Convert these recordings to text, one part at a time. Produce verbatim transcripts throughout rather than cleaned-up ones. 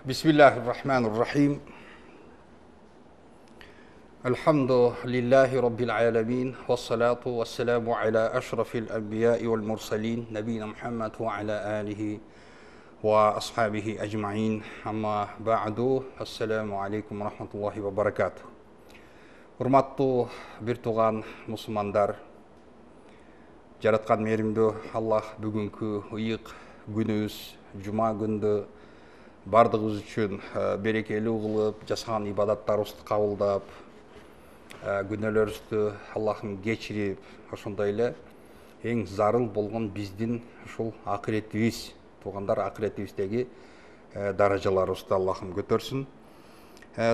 Bismillahirrahmanirrahim. Elhamdülillahi Rabbil alemin. Vessalatu vesselamu ala eşrafil enbiya'i vel mursalin. Nebina Muhammed ve ala alihi ve ashabihi ecma'in. Amma ba'du. Esselamu aleykum ve rahmetullahi ve barakatuh. Hurmattуу bir tuğan musulmanдар. Жараткан мээримдүү Аллах бүгүнкү ыйык күнүбүз, жума күндү бардыгыбыз үчүн берекелүү кылып, жасаган ибадаттарыбызды кабылдап, күнөөлөрүбүздү Аллахым кечирип, ошондой эле эң зарыл болгон биздин ушул акыретибиз, туугандар акыретибиздеги даражаларыбызды Аллахым көтөрсүн.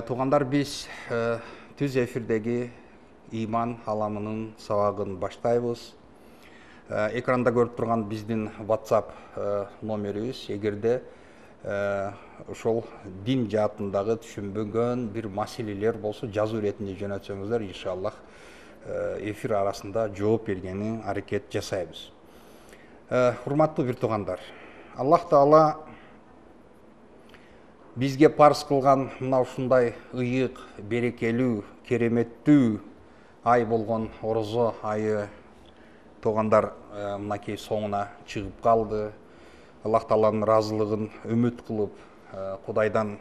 Туугандар, биз түз эфирдеги иман аламынын сабагын баштайбыз. Экранда көрүп турган биздин WhatsApp номерибиз, эгерде ошол дин жаатындагы түшүнбөгөн бир маселелер болсо, жазуу иретинде жөнөтсөңүздөр, иншаллах эфир арасында жооп бергени аракет жасайбыз. Урматтуу бир туугандар, Аллах Таала бизге парыз кылган мына ушундай ыйык, берекелүү, кереметтүү ай болгон орозо айы туугандар мынакей соңуна чыгып калды. Аллах Тааланын ыраазылыгын үмүт кылып, Кудайдан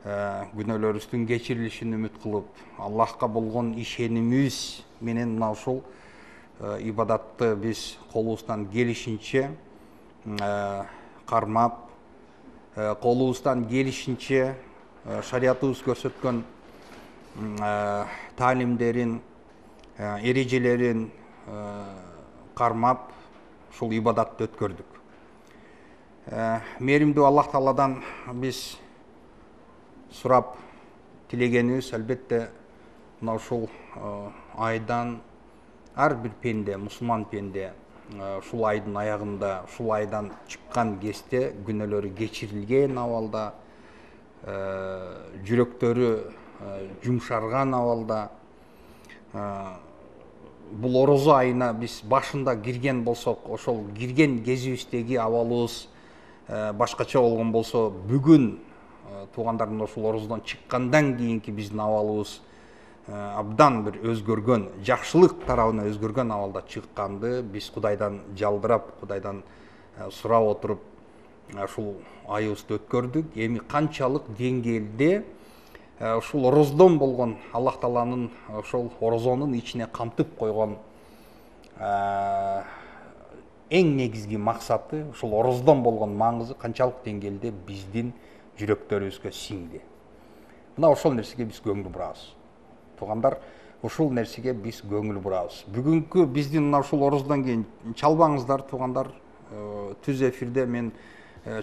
күнөөлөрүбүздүн кечирилишин үмүт кылып, Аллахка болгон ишенимибиз менен мына ушул ибадатты биз колубуздан келишинче кармап, колубуздан келишинче шариятыбыз көрсөткөн таалимдерин, эрежелерин кармап, ушул ибадатты өткөрдүк. Мээримдүү Аллах Тааладан биз сурап тилегенибиз, албетте мына ушул айдан ар бир пенде, мусулман пенде ушул айдын аягында, ушул айдан чыккан кезде күнөөлөрү кечирилген абалда, жүрөктөрү жумшарган абалда, бул орозо айына биз башында кирген болсок, ошол кирген кезибиздеги абалыбыз башкача болгон болсо, бүгүн туугандар мына ушул орозодон чыккандан кийинки биздин абалыбыз абдан бир өзгөргөн, жакшылык тарабына өзгөргөн абалда чыкканды биз Кудайдан жалдырап, Кудайдан сурап отуруп ушул айыбызды өткөрдүк. Эми канчалык деңгээлде ушул орозодон болгон Аллах Тааланын ошол орозонун ичине камтып койгон эң негизги максаты, ушул орозодон болгон маңызы канчалык деңгээлде биздин жүрөктөрүбүзгө сиңди. Мына ошол нерсеге биз көңүл бурабыз. Туугандар, ушул нерсеге биз көңүл бурабыз. Бүгүнкү биздин мына ушул орозодон кийин чалбаңыздар, туугандар. Түз эфирде мен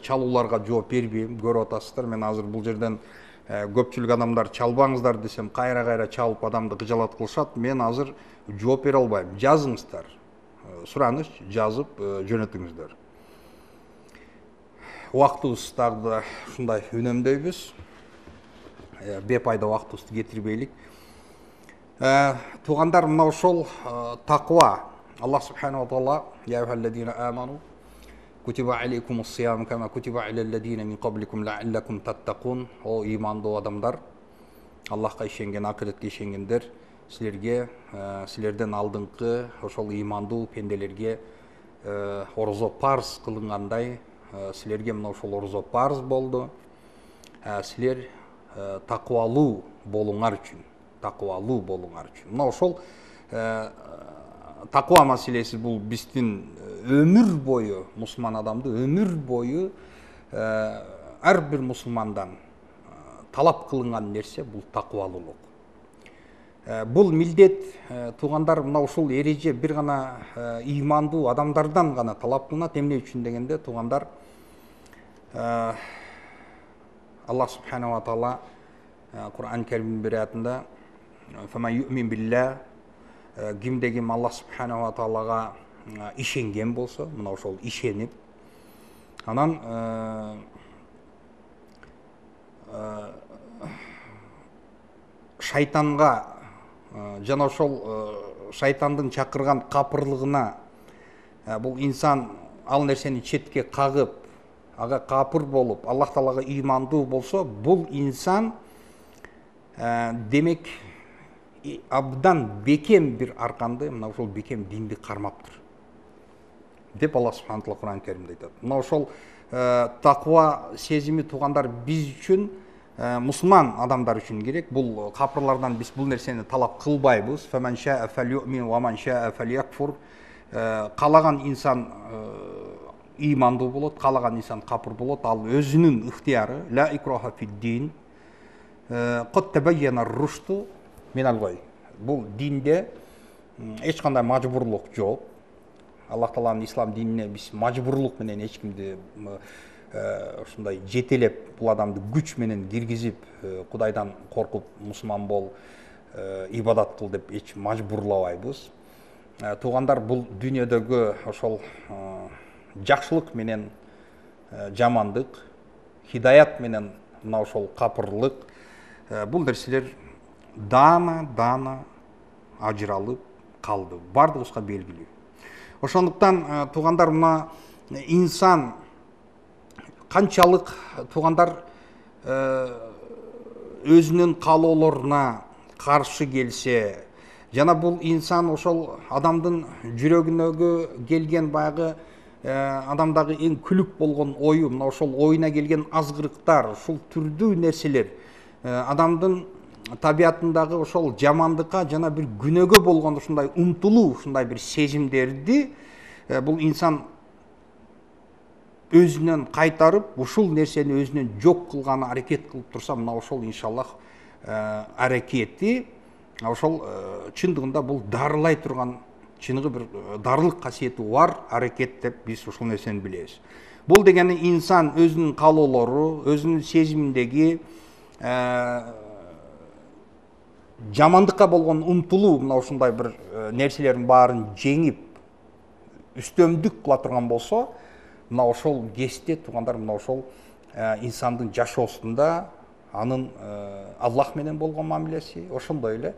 чалууларга жооп бербейм, көрүп атасыздар. Мен азыр бул жерден көпчүлүк адамдар чалбаңыздар десем, кайра-кайра чалып адамды кыжалат кылышат. Мен азыр жооп бере албайм. Жазыңыздар. Сураныч жазып жөнөтүңүздөр. Убактыбыз дагы да ушундай үнөмдөйбүз. Бепайда убактыбызды кетирбейлик. Туугандар, мына ошол таква. Аллах субханаху ва таала: "Я айюхаллазина аману кутиба алейкумус сиям кама кутиба алаллазина мин кабликум лааллакум таттакун". О имандуу адамдар, Аллахка ишенген, акыретке ишенгендер, силерге, силерден алдыңкы ошол имандуу пенделерге орозо парыз кылынгандай, силерге мына ошол орозо парыз болду. Силер таквалуу болуңар үчүн, таквалуу болуңар үчүн. Мына ошол таква маселеси бул биздин өмүр бою, мусулман адамды өмүр бою ар бир мусулмандан талап кылынган нерсе бул таквалуулук. Бул милдет, туугандар, мына ушул эреже бир гана имандуу адамдардан гана талап кылынат. Эмне үчүн дегенде, туугандар, Аллах субханаху ва таала Кур'ан Каримдин бир аятында: "Фаман юъмин билла", кимде ким Аллах субханаху ва таалага ишенген болсо, мына ошол ишенип, анан шайтанга жана ошол шайтандын чакырган капырлыгына бул инсан ал нерсени четке кагып, ага капыр болуп, Аллах Таалага ыймандуу болсо, бул инсан демек абдан бекем бир арканды, мына ошол бекем динди кармаптыр деп Аллах субхана таала Кур'ан Керимде айтат. Мына ошол таква сезими туугандар биз үчүн, мусулман адамдар үчүн керек. Бул капырлардан биз бул нерсени талап кылбайбыз. Фаман шаа фалюмин ва ман шаа фалякфур. Калаган инсан ыймандуу болот, калаган инсан капыр болот. Ал өзүнүн ыктыяры. Ла икраха фид-дин. Кад табайяна ар-рушду минал гой. Бул динде эч кандай мажбурлук жок. Аллах Тааланын ислам динине биз мажбурлук менен эч кимди ушундай жетелеп, бул адамды күч менен киргизип, Кудайдан коркуп мусулман бол, ибадат кыл деп эч мажбурлабайбыз. Туугандар, бул дүйнөдөгү ошол жакшылык менен жамандык, хидаят менен мына ошол капырлык, бул нерселер даана-даана ажыралып калды. Бардыгыбызга белгилүү. Ошондуктан туугандар, мына инсан канчалык туугандар өзүнүн каалоолоруна каршы келсе, жана бул инсан ошол адамдын жүрөгүнөгү келген баягы адамдагы эң күлүк болгон ою, мына ошол оюна келген азгырыктар, ушул түрдүү нерселер адамдын табиятындагы ошол жамандыкка жана бир күнөөгө болгон ушундай умтулуу, ушундай бир сезимдерди бул инсан өзүнөн кайтарып, ушул нерсени өзүнөн жок кылганы аракет кылып турса, мына ошол иншаллах аракети ошол чындыгында бул дарылай турган, чыныгы бир дарылык касиети бар аракет деп биз ушул нерсени билебиз. Бул дегени инсан өзүнүн каалоолору, өзүнүн сезиминдеги жамандыкка болгон умтулуу, мына ушундай бир нерселердин баарын жеңип үстөмдүк кыла турган болсо, мына ошол кезде туугандар, мына ошол инсандын жашоосунда анын Аллах менен болгон мамилеси, ошондой эле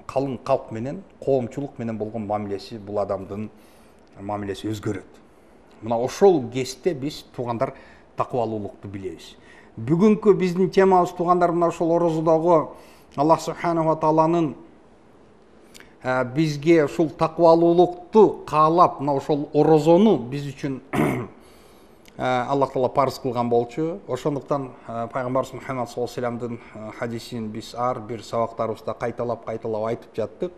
калың калк менен, коомчулук менен болгон мамилеси, бул адамдын мамилеси өзгөрөт. Мына ошол кезде биз туугандар таквалуулукту билебиз. Бүгүнкү биздин темабыз туугандар, мына ошол орозодогу Аллах субханаху тааланын бизге ушул таквалуулукту каалап, мына ошол орозону биз үчүн Аллах Таала парыз кылган болчу. Ошондуктан пайгамбарыбыз Мухаммад саллаллаху алейхи вассаламдын хадисин биз ар бир сабактарыбызда кайталап-кайталап айтып жаттык.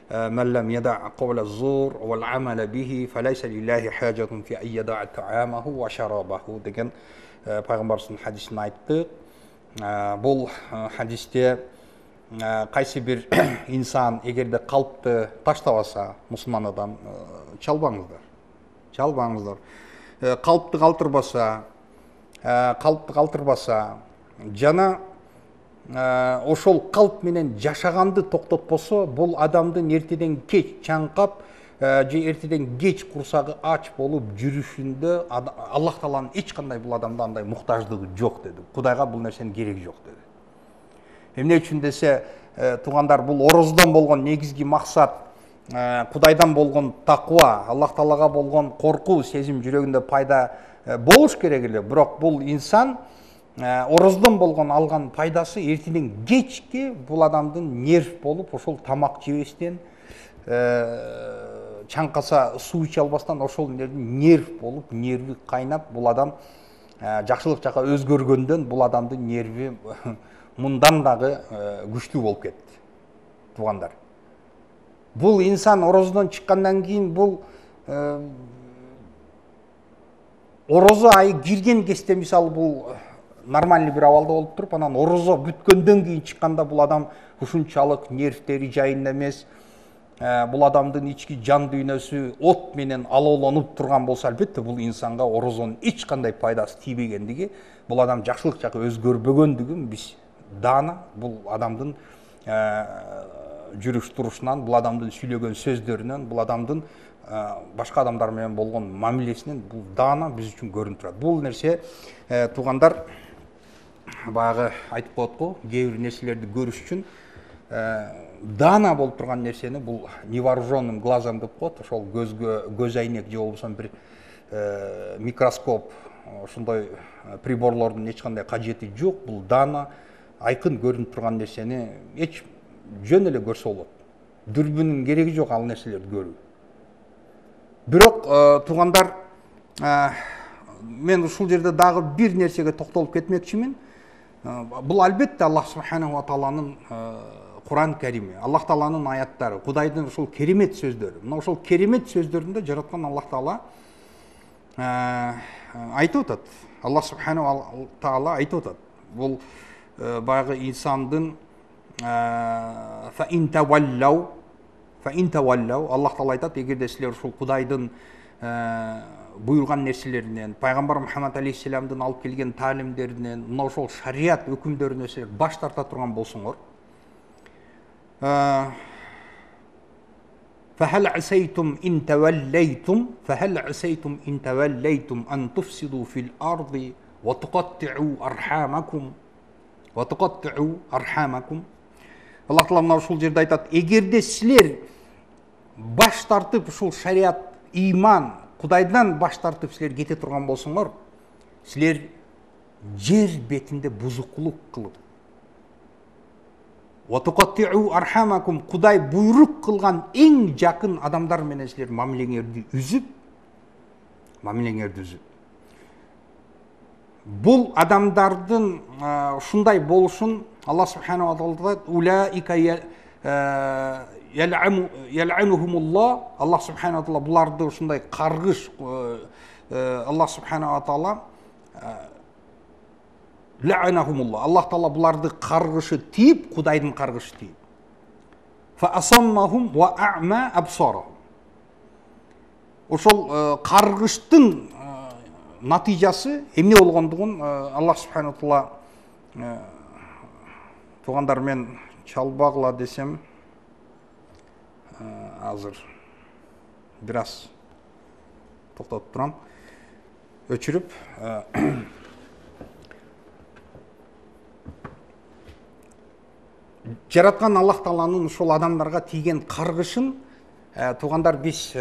Мэллам яда кавла зур вал амала бихи фалайса лиллахи хаджатун фи айяда таамаху ва шарабаху деген пайгамбарыбыздын хадисин айттык. Бул хадисте кайсы бир инсан эгерде калпты таштабаса, мусулман адам, чалбаңыздар. Чалбаңыздар. Калпты калтырбаса, калпты калтырбаса, жана ошол калп менен жашаганды токтотпосо, бул адамдын эртеден кеч чаңкап, же эртеден кеч курсагы ач болуп жүрүшүндө Аллах Тааланын эч кандай бул адамда андай муктаждыгы жок деди. Кудайга бул нерсенин кереги жок деди. Эмне үчүн десе, туугандар, бул орозодон болгон негизги максат Кудайдан болгон таква, Аллах Таалага болгон коркуу сезим жүрөгүндө пайда болуш керек эле. Бирок бул инсан орозодон болгон алган пайдасы эртеден кечке бул адамдын нерв болуп, ошол тамак жебестен, чаңкаса суу иче албастан ошол нерв болуп, нерви кайнап, бул адам жакшылык жака өзгөргөндөн бул адамдын нерви мындан дагы күчтүү болуп кетти. Туугандар, бул инсан орозодон чыккандан кийин, бул орозо айы кирген кезде, мисалы, бул нормальный бир абалда болуп туруп, анан орозо бүткөндөн кийин чыкканда бул адам ушунчалык нервтери жайында эмес, бул адамдын ички жан дүйнөсү от менен алоолонуп турган болсо, албетте бул инсанга орозонун эч кандай пайдасы тийбегендиги, бул адам жакшылык жака өзгөрбөгөндүгүн биз даана бул адамдын жүрүш турушунан, бул адамдын сүйлөгөн сөздөрүнөн, бул адамдын башка адамдар менен болгон мамилесинен бул даана биз үчүн көрүнүп турат. Бул нерсе туугандар, баягы айтып коет го, кээ бир нерселерди көрүш үчүн даана болуп турган нерсени бул невооруженным глазом деп коет, ошол көзгө көз айнек же болбосо бир микроскоп, ошондой приборлордун эч кандай кажети жок. Бул даана айкын көрүнүп турган нерсени эч жөн эле көрсө болот. Дүрбүнүн кереги жок ал нерселерди көрүү. Бирок туугандар, мен ушул жерде дагы бир нерсеге токтолуп кетмекчимин. Бул албетте Аллах субханаху ва тааланын Куран Карими, Аллах тааланын аяттары, Кудайдын ушул керемет сөздөрү. Мына ушул керемет сөздөрүндө жараткан Аллах таала айтып атат. Аллах субханаху ва таала айтып атат. Бул баягы инсандын фа ин таваллау фа ин таваллау Аллах таала айтат, эгерде силер ушул Кудайдын буйруган нерселеринен, пайгамбар Мухаммад алейхиссаламдын алып келген таалимдеринен, мына ошол шарият өкүмдөрүнөн силер баш тарта турган болсоңор, فهل عسيتم إن توليتم فهل عسيتم إن توليتم أن تفسدوا في الأرض وتقطعوا أرحامكم وتقطعوا أرحامكم. Аллах таала мына ушул жерде айтат, эгерде силер баш тартып ушул шарият, иман, Кудайдан баш тартып силер кете турган болсоңор, силер жер бетинде бузукулук кылып, وَتُقَطِّعُوا أَرْحَامَكُمْ Кудай буйрук кылган эң жакын адамдар менен силер мамилеңерди үзүп, мамилеңерди үзүп. Бул адамдардын ушундай болушун Аллах субханаху ва таала улаика ял'анухумуллах. Аллах субханаху ва таала буларды ушундай каргыш, Аллах субханаху ва таала ла'анахумуллах. Аллах таала буларды каргышы тип, Кудайдын каргышы тип. Фа асаммахум ва а'ма абсарахум. Ошол каргыштын натыйжасы эмне болгондугун Аллах субханаху ва таала, туугандар, мен чалбагыла десем азыр бир аз токтотуп турам, өчүрүп. Жараткан Аллах тааланын ушул адамдарга тийген каргышын туугандар биз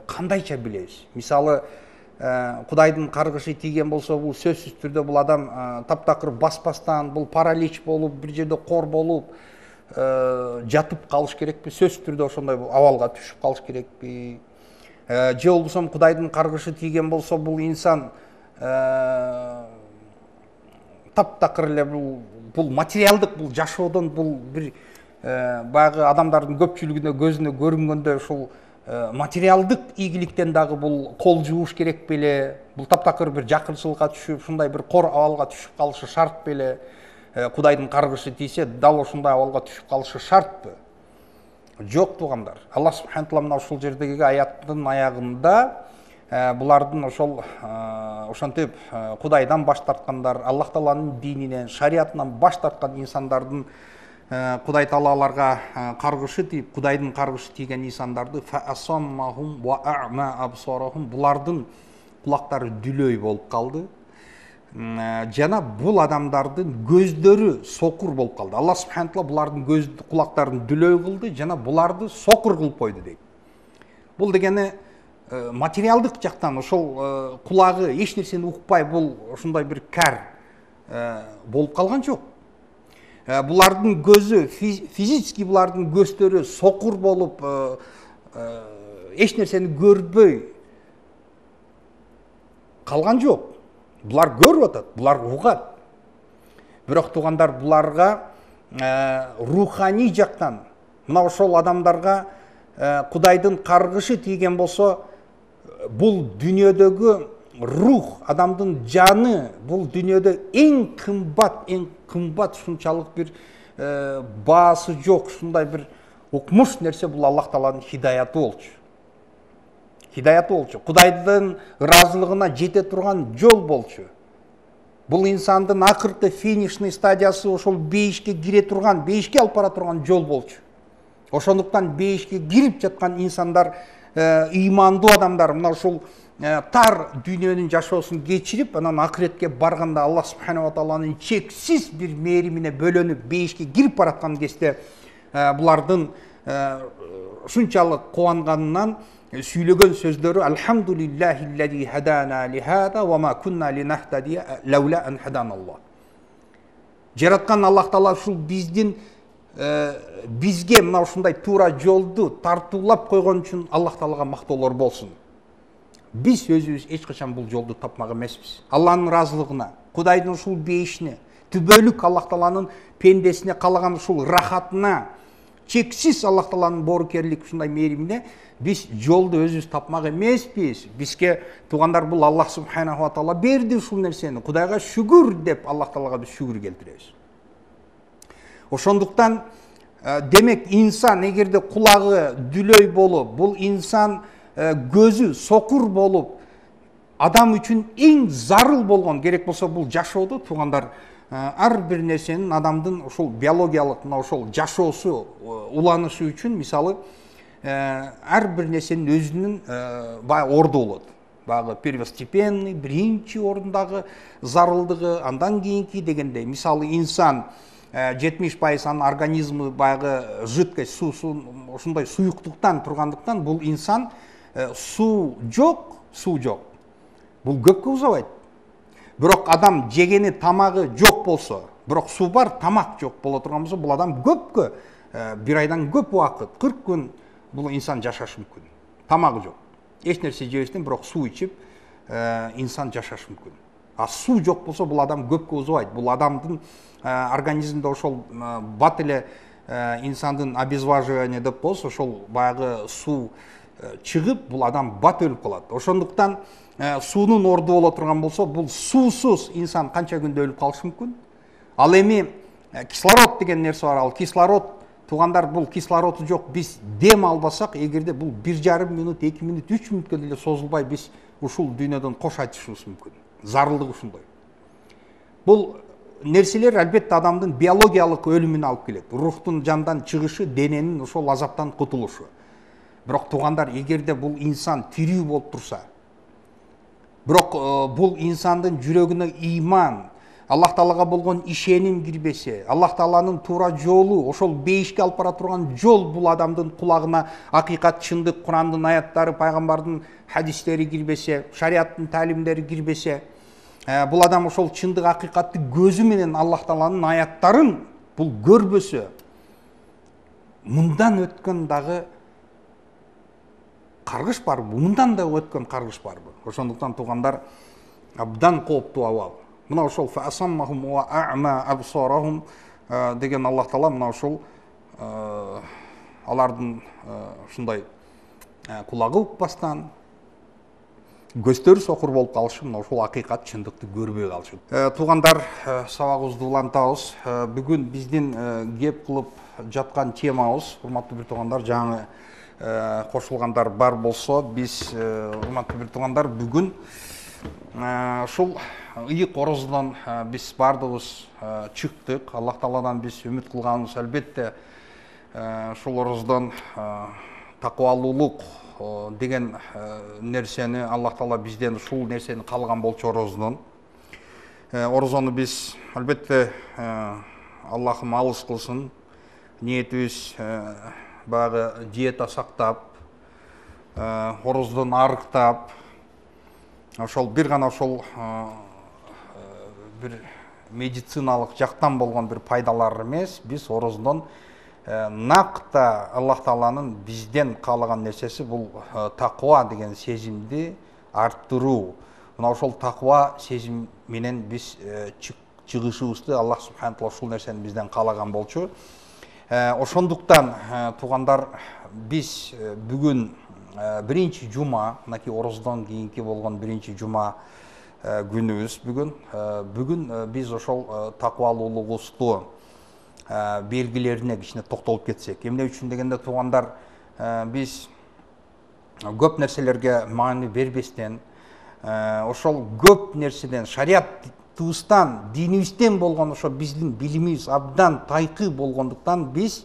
кандайча билебиз? Мисалы, Кудайдын каргышы тийген болсо, бул сөзсүз түрдө бул адам таптакыр баспастан, бул паралич болуп, бир жерде кор болуп жатып калыш керекпи? Сөзсүз түрдө ошондой абалга түшүп калыш керекпи? Же болбосо Кудайдын каргышы тийген болсо, бул инсан таптакыр эле бул бул материалдык, бул жашоодон, бул бир баягы адамдардын көпчүлүгүнө көзүнө көрүнгөндөй ушул материалдык ийгиликтен дагы бул кол жууш керек беле? Бул таптакыр бир жакырчылыкка түшүп, ушундай бир кор абалга түшүп калышы шарт беле? Кудайдын каргышы тийсе, дал ошондой абалга түшүп калышы шартпы? Жок, туугандар. Аллах субханаху ва таала мына ушул жердеги аяттын аягында булардын ошол ошентип Кудайдан баш тарткандар, Аллах тааланын дининен, шариятынан баш тарткан инсандардын Кудай таала аларга каргышы тип, Кудайдын каргышы тийген инсандарды фаасаммахум ва а'ма абсарахум, булардын кулактары дүлөй болуп калды. Жана бул адамдардын көздөрү сокур болуп калды. Аллах субханаху ва таала булардын көз кулактарын дүлөй кылды, жана буларды сокур кылып койду дейт. Бул дегени материалдык жактан ошол кулагы эч нерсени укпай, бул ушундай бир кар болуп калган жок. Булардын көзү, физически булардын көздөрү сокур болуп, эч нерсени көрбөй калган жок. Булар көрүп атат, булар угат. Бирок туугандар, буларга руханий жактан, мына ошол адамдарга Кудайдын каргышы тийген болсо, бул дүйнөдөгү рух, адамдын жаны, бул дүйнөдө эң кымбат, эң кымбат, ушунчалык бир баасы жок, ушундай бир укмуш нерсе, бул Аллах тааланын хидаяты болчу. Хидаяты болчу. Кудайдын ыраазылыгына жете турган жол болчу. Бул инсандын акыркы финишный стадиясы, ошол бейишке кире турган, бейишке алып бара турган жол болчу. Ошондуктан бейишке кирип жаткан инсандар, ыймандуу адамдар, мына ушул тар дүйнөнүн жашоосун кечирип, анан акыретке барганда Аллах субханаху ва тааланын чексиз бир мээримине бөлөнүп бейишке кирип бараткан кезде булардын ушунчалык кубанганынан сүйлөгөн сөздөрү Алхамдулиллахиллази хадана ли хада ва ма кунна линахтадия лаула ан хаданаллах. Жараткан Аллах Таала ушул биздин бизге мына ушундай туура жолду тартуулап койгон үчүн Аллах Таалага мактоолор болсун. Биз өзүбүз эч качан бул жолду тапмак эмеспиз. Алланын ыраазылыгына, Кудайдын ушул бейишине, түбөлүк Аллах Тааланын пендесине калаган ушул рахатына, чексиз Аллах Тааланын боорукерлик ушундай мээримине биз жолду өзүбүз тапмак эмеспиз. Бизге туугандар бул Аллах субханаху ва таала берди ушул нерсени. Кудайга шүгүр деп Аллах Таалага биз шүгүр келтиребиз. Ошондуктан демек инсан эгерде кулагы дүлөй болуп, бул инсан көзү сокур болуп, адам үчүн эң зарыл болгон керек болсо бул жашоодо туугандар ар бир нерсенин адамдын ушул биологиялык мына ошол жашоосу, уланышы үчүн мисалы ар бир нерсенин өзүнүн баягы орду болот. Баягы первостепенный, биринчи ордундагы зарылдыгы, андан кийинки дегендей. Мисалы инсан жетимиш пайыз анын организми баягы жидкость, суусу ушундай суюктуктан тургандыктан бул инсан суу жок, суу жок. Бул көпкө узабайт. Бирок адам жегени тамагы жок болсо, бирок суу бар, тамак жок боло турган болсо, бул адам көпкө бир айдан көп убакыт, кырк күн бул инсан жашашы мүмкүн. Тамагы жок. Эч нерсе жебестен бирок суу ичип инсан жашашы мүмкүн. А суу жок болсо бул адам көпкө узабайт. Бул адамдын организминде ошол бат эле инсандын обезваживание деп коебуз, ошол баягы суу чыгып, бул адам бат өлүп калат. Ошондуктан суунун орду боло турган болсо, бул суусуз инсан канча күндө өлүп калышы мүмкүн. Ал эми кислород деген нерсе бар. Ал кислород туугандар бул кислороду жок, биз дем албасак, эгерде бул бир жарым минут, эки минут, үч мүнөткө деле созулбай биз ушул дүйнөдөн кош айтышыбыз мүмкүн. Зарылдык ушундай. Бул нерселер албетте адамдын биологиялык өлүмүнө алып келет. Рухтун жандан чыгышы, дененин ошол азаптан кутулушу. Бирок туугандар, эгерде бул инсан тирүү болуп турса, бирок бул инсандын жүрөгүнө иман, Аллах Таалага болгон ишеним кирбесе, Аллах Тааланын туура жолу, ошол бейишке алып бара турган жол бул адамдын кулагына акыйкат, чындык, Курандын аяттары, пайгамбардын хадистери кирбесе, шариаттын таалимдери кирбесе, бул адам ошол чындык, акыйкатты көзү менен Аллах Тааланын аяттарын бул көрбөсө, мындан өткөн дагы каргыш барбы, мындан да өткөн каргыш барбы? Ошондуктан туугандар, абдан кооптуу абал. Мына ошол фасаммахум ва а'ма абсарахум деген Аллах Таала мына ошол алардын ушундай кулагы укпастан, көздөрү сокур болуп калышы, мына ошол акыйкат, чындыкты көрбөй калышы. Туугандар, сабагыбызды улантабыз. Бүгүн биздин кеп кылып жаткан темабыз, урматтуу бир туугандар, жаңы кошулгандар бар болсо, биз урматтуу бир туугандар бүгүн ушул ыйык ороздон биз бардыгыбыз чыктык. Аллах Тааладан биз үмүт кылганыбыз албетте ушул ороздон такыбалуулук деген нерсени Аллах Таала бизден ушул нерсени каалаган болчу. Ороздон орозону биз албетте Аллахым алыс кылсын, ниетибиз баягы диета сактап, ороздон арыктап, ошол бир гана ошол бир медициналык жактан болгон бир пайдалар эмес, биз ороздон накта Аллах Тааланын бизден каалаган нерсеси бул таква деген сезимди арттыруу. Мына ошол таква сезим менен биз чыгышыбызды Аллах субханаху ва таала ушул нерсени бизден каалаган болчу. Ошондуктан туугандар, биз бүгүн биринчи жума, мынакей ороздон кийинки болгон биринчи жума күнүбүз бүгүн. Бүгүн биз ошол такыбалуулугубузду белгилерине кичине токтолуп кетсек. Эмне үчүн дегенде туугандар, биз көп нерселерге маани бербестен, ошол көп нерседен, шариаттыбыздан, динибизден болгон ошо биздин билимибиз абдан тайкы болгондуктан биз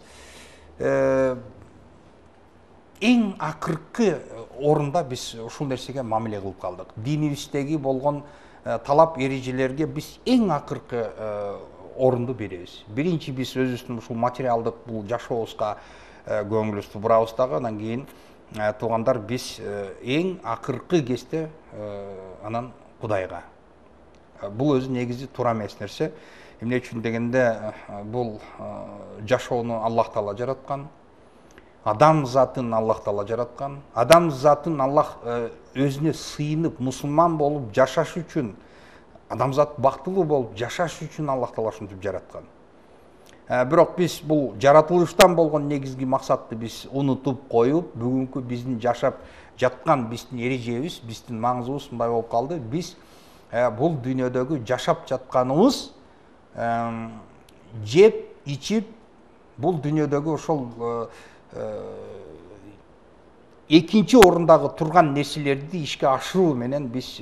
эң акыркы орунда биз ушул нерсеге мамиле кылып калдык. Динибиздеги болгон талап эрежелерге биз эң акыркы орунду беребиз. Биринчи биз өзүбүздүн ушул материалдык бул жашообузга көңүлүбүздү бурабыз дагы, андан кийин туугандар, биз эң акыркы кезде анан Кудайга. Бул өзү негизи туура эмес нерсе. Эмне үчүн дегенде, бул жашоону Аллах Таала жараткан, адам затын Аллах Таала жараткан, адам затын Аллах өзүнө сыйынып мусулман болуп жашаш үчүн, адамзат бактылуу болуп жашаш үчүн Аллах Таала ушинтип жараткан. Бирок биз бул жаратылыштан болгон негизги максатты биз унутуп коюп, бүгүнкү биздин жашап жаткан биздин эрежебиз, биздин маңызыбыз мындай болуп калды. Биз бул дүйнөдөгү жашап жатканыбыз, жеп, ичип, бул дүйнөдөгү ошол экинчи орундагы турган нерселерди ишке ашыруу менен биз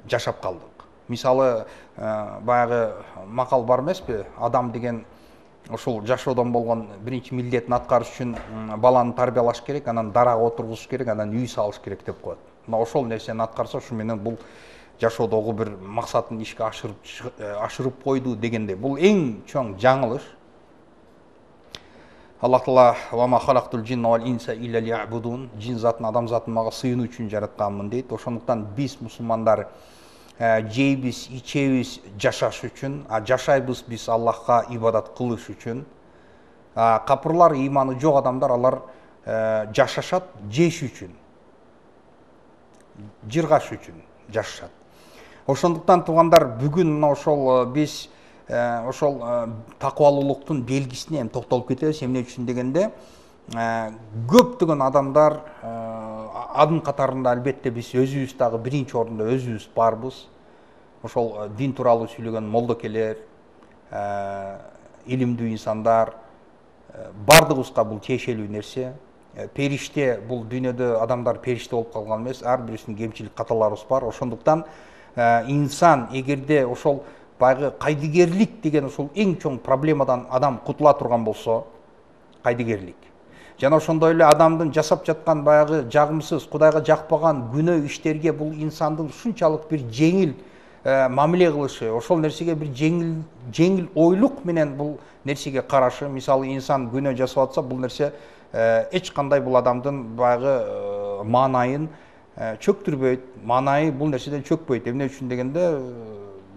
жашап калдык. Мисалы, баягы макал бар эмеспи? Адам деген ошол жашоодон болгон биринчи милдетин аткарыш үчүн баланы тарбиялаш керек, анан дарага отургузуш керек, анан үй салыш керек деп коет. Мына ошол нерсени аткарса, ушу менен бул жашоодогу бир максатын ишке ашырып ашырып койду дегенде, бул эң чоң жаңылыш. Аллах Таала ва ма халактул джинна вал инса илля лиябудун, жин затын, адам затын мага сыйынуу үчүн жаратканмын дейт. Ошондуктан биз мусулмандар жейбиз, ичебиз жашаш үчүн, а жашайбыз биз Аллахка ибадат кылыш үчүн. Капырлар, ыйманы жок адамдар, алар жашашат жеш үчүн, жыргаш үчүн жашашат. Ошондуктан туугандар, бүгүн мына ошол биз ошол такыбалуулуктун белгисине эми токтолуп кетебиз. Эмне үчүн дегенде, көптөгөн адамдар, анын катарында албетте биз өзүбүз дагы биринчи орунда өзүбүз барбыз. Ошол дин тууралуу сүйлөгөн молдокелер, илимдүү инсандар, бардыгыбызга бул тиешелүү нерсе. Периште, бул дүйнөдө адамдар периште болуп калган эмес, ар бирибиздин кемчилик каталарыбыз бар. Ошондуктан инсан эгерде ошол баягы кайдыгерлик деген ошол эң чоң проблемадан адам кутула турган болсо, кайдыгерлик. Жана ошондой эле адамдын жасап жаткан баягы жагымсыз, Кудайга жакпаган күнөө иштерге бул инсандын ушунчалык бир жеңил мамиле кылышы, ошол нерсеге бир жеңил жеңил ойлук менен бул нерсеге карашы. Мисалы, инсан күнөө жасап атса, бул нерсе эч кандай бул адамдын баягы маанайын чөктүрбөйт, маанайы бул нерседен чөкпөйт. Эмне үчүн дегенде,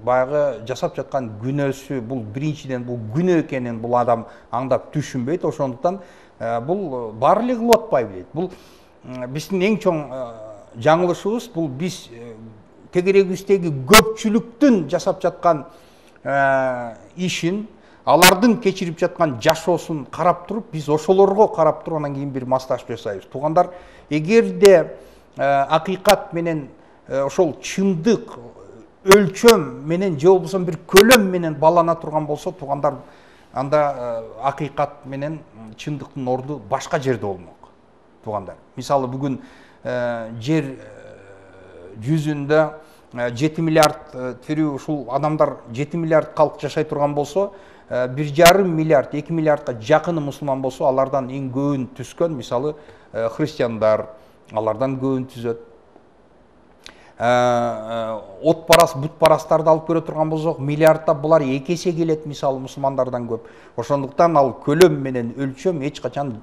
баягы жасап жаткан күнөөсү, бул биринчиден бул күнөө экенин бул адам аңдап түшүнбөйт. Ошондуктан бул баары эле кылып атпай билет. Бул биздин эң чоң жаңылышыбыз, бул биз тегерегибиздеги көпчүлүктүн жасап жаткан ишин, алардын кечирип жаткан жашоосун карап туруп, биз ошолорго карап туруп анан кийин бир масташ жасайбыз. Туугандар, эгерде акыйкат менен ошол чындык өлчөм менен же болбосо бир көлөм менен балана турган болсо, туугандар, анда акыйкат менен чындыктын орду башка жерде болмок. Туугандар, мисалы, бүгүн жер жүзүндө жети миллиард тирүү ушул адамдар, жети миллиард калк жашай турган болсо, бир жарым миллиард, эки миллиардка жакыны мусулман болсо, алардан эң көбүн түзгөн, мисалы, христиандар, алардан көбүн түзөт. От парас, бут парастарды алып көрө турган болсок, миллиардта булар эки эсе келет, мисалы, мусулмандардан көп. Ошондуктан ал көлөм менен өлчөм эч качан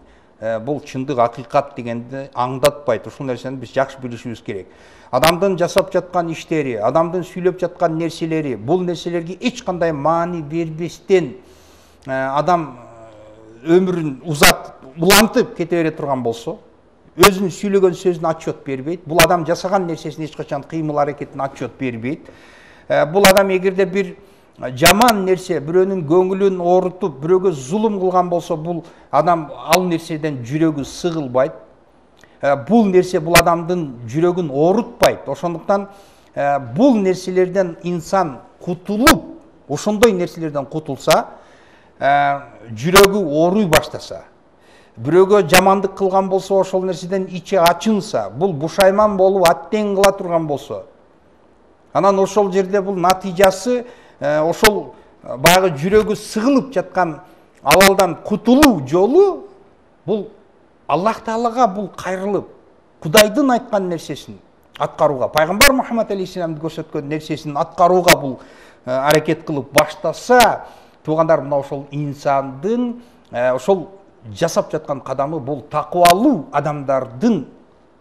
бул чындык, акыйкат дегенди аңдатпайт. Ушул нерсени биз жакшы билишибиз керек. Адамдын жасап жаткан иштери, адамдын сүйлөп жаткан нерселери, бул нерселерге эч кандай маани бербестен адам өмүрүн узат, улантып кете бере турган болсо, өзүнүн сүйлөгөн сөзүнө отчет бербейт. Бул адам жасаган нерсесин эч качан кыймыл аракетин отчет бербейт. Бул адам эгерде бир жаман нерсе, бирөөнүн көңүлүн оорутуп, бирөөгө зулум кылган болсо, бул адам ал нерседен жүрөгү сыгылбайт. Бул нерсе бул адамдын жүрөгүн оорутпайт. Ошондуктан бул нерселерден инсан кутулуп, ошондой нерселерден кутулса, жүрөгү ооруй баштаса, бирөөгө жамандык кылган болсо, ошол нерседен ичи ачынса, бул бушайман болуп аттен кыла турган болсо, анан ошол жерде бул натыйжасы ошол баягы жүрөгү сыгылып жаткан абалдан кутулуу жолу бул Аллах Таалага бул кайрылып, Кудайдын айткан нерсесин аткарууга, пайгамбар Мухаммад алейхиссаламдын көрсөткөн нерсесин аткарууга бул аракет кылып баштаса, туугандар, мына ошол инсандын ошол жасап жаткан кадамы бул такыбалуу адамдардын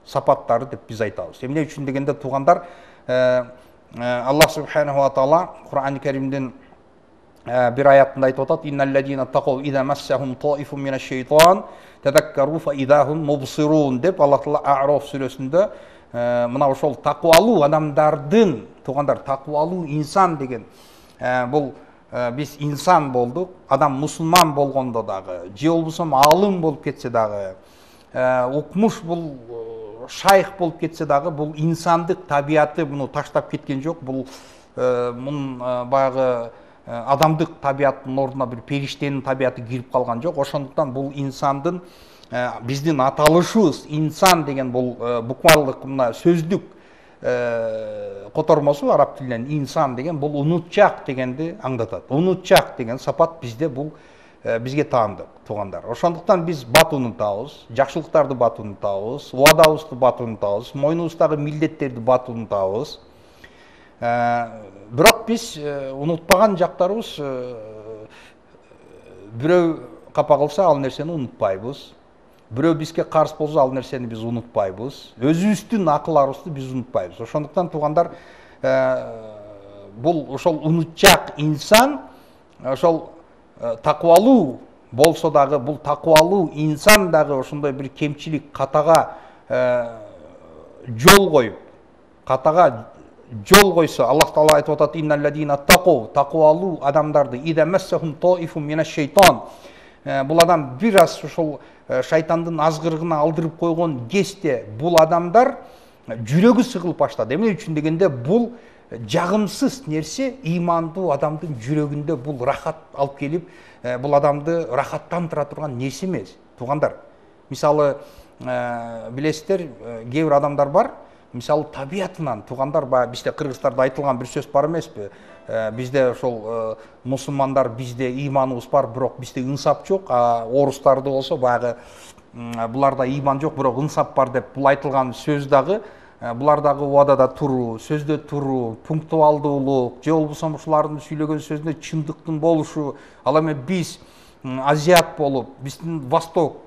сапаттары деп биз айтабыз. Эмне үчүн дегенде туугандар, Аллах субханаху ва таала Кур'ан-ы Каримдин bir ayatında aytıp atat innellezine taqav iza massahum taifun mineşşeytan tezekkeru fa idahum mubsirun dep Allah Taala A'raf сүрөсүндө мына ошол такыбалуу адамдардын туугандар такыбалуу инсан деген бул биз инсан болдук, адам мусулман болгондо дагы же болбосо алым болуп кетсе дагы укмуш бул шайх болуп кетсе дагы бул инсандык табияты муну таштап кеткен жок. Бул мунун баягы адамдык табияттын ордуна бир периштенин табияты кирип калган жок. Ошондуктан бул инсандын биздин аталышыбыз инсан деген бул буквалдык мына сөздүк котормосу араб тилинен инсан деген бул унутчак дегенди аңдатат. Унутчак деген сапат бизде бул бизге таандык туугандар. Ошондуктан биз бат унутабыз, жакшылыктарды бат унутабыз, убадабызды бат унутабыз, мойнубуздагы милдеттерди бат унутабыз. Бирок биз унутпаган жактарыбыз бирөө капа кылса ал нерсени унутпайбыз. Бирөө бизге каршы болсо ал нерсени биз унутпайбыз. Өзүбүздүн акылыбызды биз унутпайбыз. Ошондуктан туугандар бул ошол унутчак инсан ошол такыбалуу болсо дагы бул такыбалуу инсан дагы ошондой бир кемчилик катага жол коюп, катага жол койсо Аллах Таала айтып атат иннеллезина тaqav такыбалуу адамдарды ида массахум таифун минеш-шейтан бул адам бир аз ошол шайтандын азгырыгына алдырып койгон кезде бул адамдар жүрөгү сыгылып баштады. Эмне үчүн дегенде бул жагымсыз нерсе ыймандуу адамдын жүрөгүндө бул рахат алып келип, бул адамды рахаттандыра турган нерсе эмес. Туугандар, мисалы билесиздер, кээ бир адамдар бар, мисалы табиятынан туугандар баягы бизде кыргыздарда айтылган бир сөз бар эмеспи? Бизде ошол мусулмандар бизде ыйманыбыз бар, бирок бизде ынсап жок, а орустарды болсо баягы буларда ыйман жок, бирок ынсап бар деп бул айтылган сөз дагы булардагы убадада туруу, сөздө туруу, пунктуалдуулук, же болбосо ушулардын сүйлөгөн сөзүндө чындыктын болушу. Ал эми биз азиат болуп, биздин восток,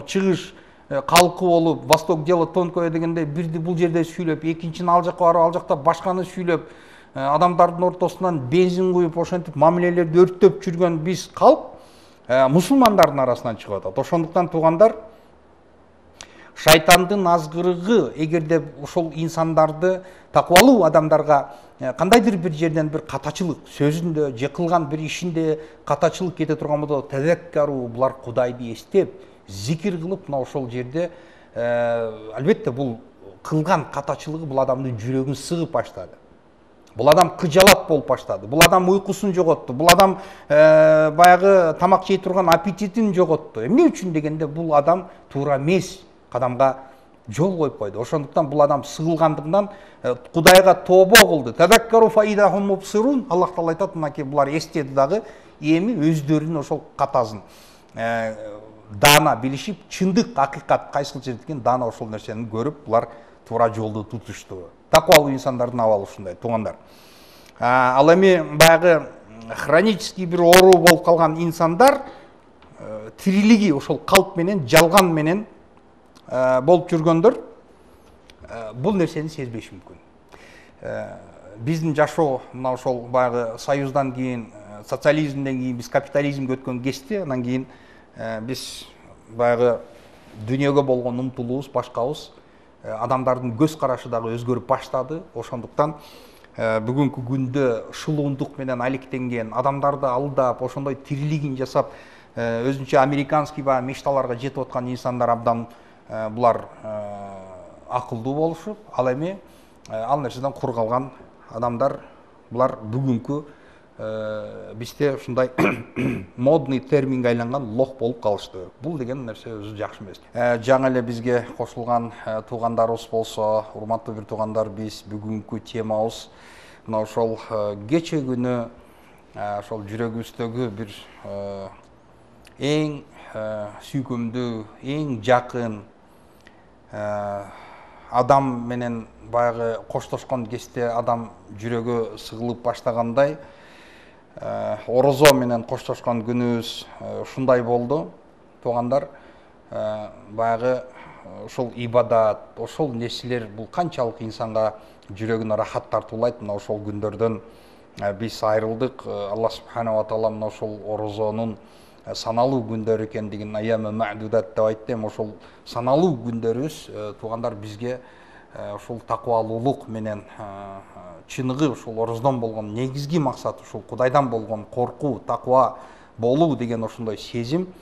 чыгыш калкы болуп, восток дело тонкое дегенде бирди бул жерде сүйлөп, экинчини ал жакка барып, ал жакта башканы сүйлөп, адамдардын ортосунан бензин куюп, ошентип мамилелерди өрттөп жүргөн биз калп мусулмандардын арасынан чыгып атат. Ошондуктан туугандар, шайтандын азгырыгы эгерде ошол инсандарды такыбалуу адамдарга кандайдыр бир жерден бир катачылык сөзүндө же кылган бир ишинде катачылык кете турган болсо тезеккару булар Кудайды эстеп, зикир кылып, мына ошол жерде албетте бул кылган катачылыгы бул адамдын жүрөгүн сыгып баштады. Бул адам кыжалат болуп баштады. Бул адам уйкусун жоготту. Бул адам баягы тамак жей турган аппетитин жоготту. Эмне үчүн дегенде бул адам туура эмес кадамга жол коюп койду. Ошондуктан бул адам сыгылгандыгынан Кудайга тобо кылды. Тадаккару фаидахум мубсирун. Аллах Таала айтат, мынакей булар эстеди дагы, эми өздөрүнүн ошол катасын даана билишип, чындык, акыйкат кайсыл жерде экен даана ошол нерсени көрүп, булар туура жолду тутушту. Такыбалуу инсандардын абалы ушундай, туугандар. Ал эми баягы хронический бир оору болуп калган инсандар тирилиги ошол калп менен, жалган менен болуп жүргөндөр бул нерсени сезбеши мүмкүн. Биздин жашоо мына ошол баягы союздан кийин, социализмден кийин биз капитализмге өткөн кезде, анан кийин биз баягы дүйнөгө болгон умтулуубуз башкабыз, адамдардын көз карашы дагы өзгөрүп баштады. Ошондуктан бүгүнкү күндө шылуундук менен алектенген, адамдарды алдап, ошондой тирилигин жасап, өзүнчө американский баягы мечталарга жетип аткан инсандар абдан булар акылдуу болушуп, ал эми ал нерседен кур калган адамдар булар бүгүнкү бизде ушундай модный терминге айланган лох болуп калышты. Бул деген нерсе өзү жакшы эмес. Жаңы эле бизге кошулган туугандарыбыз болсо, урматтуу бир туугандар, биз бүгүнкү темабыз мына ошол кече күнү ошол жүрөгүбүздөгү бир эң сүйкүмдүү, эң жакын адам менен баягы коштошкон кезде адам жүрөгү сыгылып баштагандай, орозо менен коштошкон күнүбүз ушундай болду. туугандар, баягы ошол ибадат, ошол нерселер бул канчалык инсанга жүрөгүнө рахат тартуулайт. Мына ошол күндөрдөн биз айрылдык. Аллах субханаху ва таала мына ошол орозонун саналуу күндөр экендигин аямы мa'дудат деп айтты. Ошол саналуу күндөрүбүз туугандар бизге ошол таквалуулук менен чыныгы ошол ороздон болгон негизги максат ушул Кудайдан болгон коркуу, таква болуу деген ошондой сезим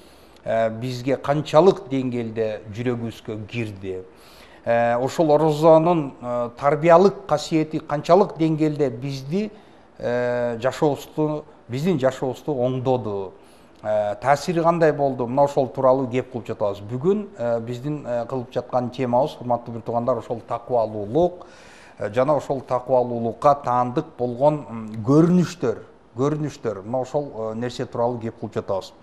бизге канчалык деңгээлде жүрөгүбүзгө кирди. Ошол орозонун тарбиялык касиети канчалык деңгээлде бизди жашообузду, биздин жашообузду оңдоду, таасири кандай болду? Мына ошол тууралуу кеп кылып жатабыз. Бүгүн биздин кылып жаткан темабыз, урматтуу бир туугандар, ошол таквалуулук жана ошол таквалуулукка таандык болгон көрүнүштөр, көрүнүштөр. Мына ошол нерсе тууралуу кеп кылып жатабыз.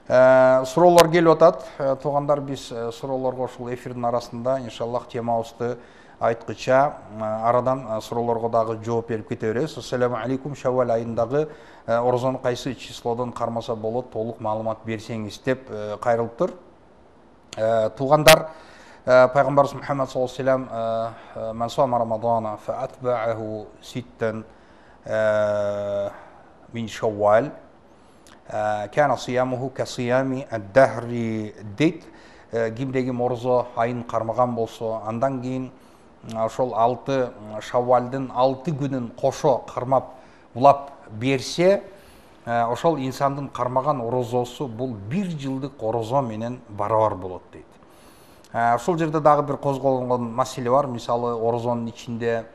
Суроолор келип атат. Туугандар, биз суроолорго ушул эфирдин арасында иншаллах темабызды айткыча арадан суроолорго дагы жооп берип кете беребиз. Ассаламу алейкум, Шаввал айындагы орозону кайсы числодон кармаса болот, толук маалымат берсеңиз деп кайрылыптыр. Туугандар, пайгамбарыбыз Мухаммад саллаллаху алейхи ва саллям ман сама рамадана фа атбааху ситтан мин Шаввал кана сиямуху ка сиями ад-дахри дейт. Кимде ким орозо айын кармаган болсо, андан кийин ошол алты Шаввалдын алты күнүн кошо кармап улап берсе, ошол инсандын кармаган орозосу бул бир жылдык орозо менен барабар болот дейт. Ошол жерде дагы бир козголгон маселе бар. Мисалы, орозонун ичинде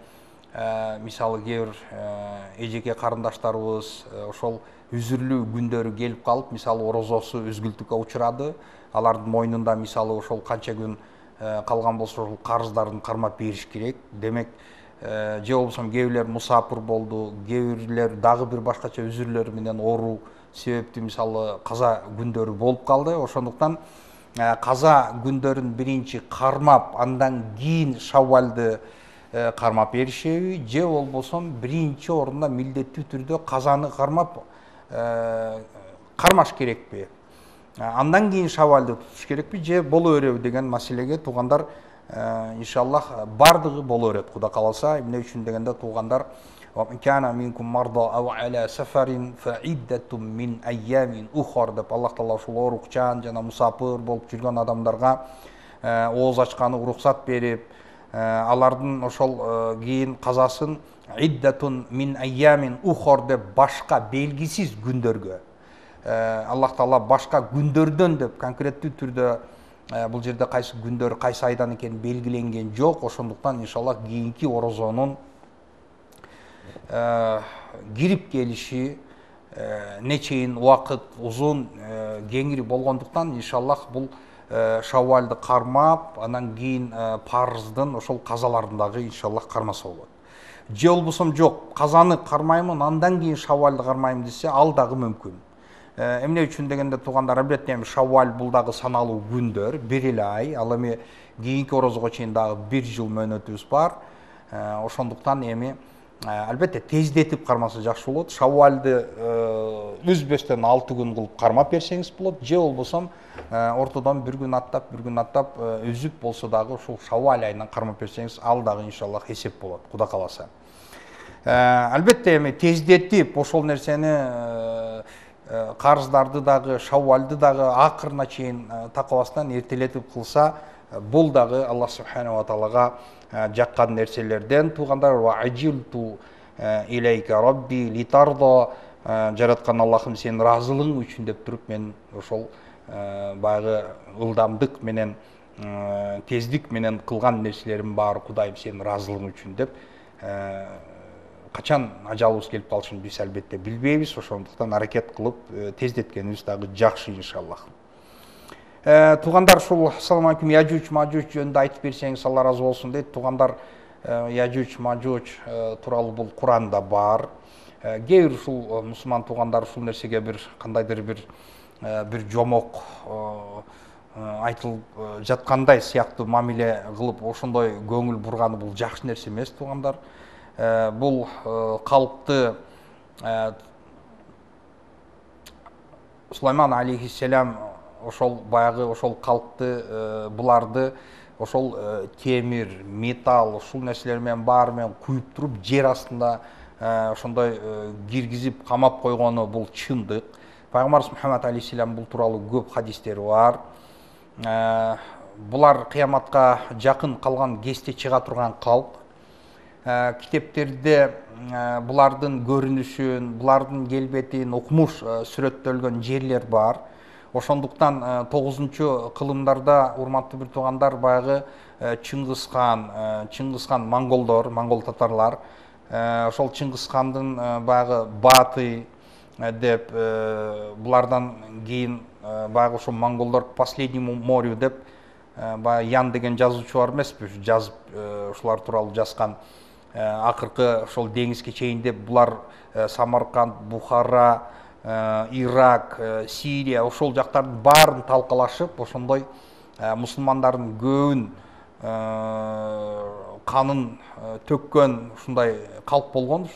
мисалы кээ бир эжеке карындаштарыбыз ошол үзүрлүү күндөрү келип калып, мисалы орозосу үзгүлтүккө учурады. Алардын мойнунда мисалы ошол канча күн калган болсо ошол карыздарын кармап бериш керек. Демек, же болбосо кээ бирлер мусапыр болду, кээ бирлер дагы бир башкача үзүрлөр менен оору себептүү мисалы каза күндөрү болуп калды. Ошондуктан каза күндөрүн биринчи кармап, андан кийин Шаввалды кармап беришеби, же болбосо биринчи орунда милдеттүү түрдө казаны кармап кармаш керекпи? Андан кийин Шаввалды тутуш керекпи, же боло береби деген маселеге туугандар иншаллах бардыгы боло берет, Кудай кааласа. Эмне үчүн дегенде туугандар, кана минкум марда ау аля сафарин фа иддатум мин айямин ухар деп Аллах таала ушул оорукчан жана мусапыр болуп жүргөн адамдарга ооз ачканы уруксат берип, алардын ошол кийин казасын иддатун мин айямин ухар деп башка белгисиз күндөргө, Аллах таала башка күндөрдөн деп конкреттүү түрдө бул жерде кайсы күндөр, кайсы айдан экени белгиленген жок. Ошондуктан иншаллах кийинки орозонун кирип келиши нечейин убакыт узун, кеңири болгондуктан иншаллах бул Шаввалды кармап, анан кийин парыздын ошол казаларын дагы иншаллах кармаса болот. Же болбосо жок, казаны кармаймын, андан кийин Шаввалды кармайм десе, ал дагы мүмкүн. Эмне үчүн дегенде туугандар, албетте эми Шаввал бул дагы саналуу күндөр, бир эле ай, ал эми кийинки орозого чейин дагы бир жыл мөөнөтүбүз бар. Ошондуктан эми албетте тездетип кармаса жакшы болот. Шаввалды үзбөстөн алты күн кылып кармап берсеңиз болот, же болбосо ортодон бир күн аттап, бир күн аттап үзүп болсо дагы ушул Шаввал айынан кармап берсеңиз, ал дагы иншаллах эсеп болот, Кудай кааласа. Албетте эми тездетип ошол нерсени, карыздарды дагы, Шаввалды дагы акырына чейин такабастан эртелетип кылса, бул дагы Аллах субханаху ва таалага жаккан нерселерден. Туугандар, ва ажилту илейка рабби литардо, жараткан Аллахым сенин ыраазылыгың үчүн деп туруп, мен ошол баягы ылдамдык менен, тездик менен кылган нерселерим баары Кудайым сенин ыраазылыгың үчүн деп, качан ажалыбыз келип калышын биз албетте билбейбиз. Ошондуктан аракет кылып тездеткенибиз дагы жакшы иншаллах. Туугандар, ушул ассаламу алейкум, Яжуч Мажуч жөнүндө айтып берсеңиз Алла разы болсун дейт. Туугандар, Яжуч Мажуч тууралуу бул Куранда бар. Кээ бир ушул мусулман туугандар ушул нерсеге бир кандайдыр бир бир жомок айтылып жаткандай сыяктуу мамиле кылып ошондой көңүл бурганы бул жакшы нерсе эмес туугандар. Бул калпты Сулайман алейхиссалам ошол баягы ошол калкты, буларды ошол темир, металл, ушул нерселер менен баары менен куюп туруп жер астында ошондой киргизип камап койгону бул чындык. Пайгамбарыбыз Мухаммад алейхиссалам бул тууралуу көп хадистери бар. Булар кыяматка жакын калган кесте чыга турган калк. Китептерде булардын көрүнүшүн, булардын келбетин укмуш сүрөттөлгөн жерлер бар. Ошондуктан тогузунчу кылымдарда, урматтуу бир туугандар, баягы Чыңгыз хан, Чыңгыз хан монголдор, монгол татарлар, ошол Чыңгыз хандын баягы баты деп, булардан кийин баягы ошо монголдор последнему морю деп, баягы Ян деген жазуучу бар эмеспи, жазып ушулар тууралуу жазган. Акыркы ошол деңизге чейин деп булар Самарканд, Бухара, Ирак, Сирия ошол жактардын баарын талкалашып, ошондой мусулмандардын көбүн канын төккөн ушундай калп болгон.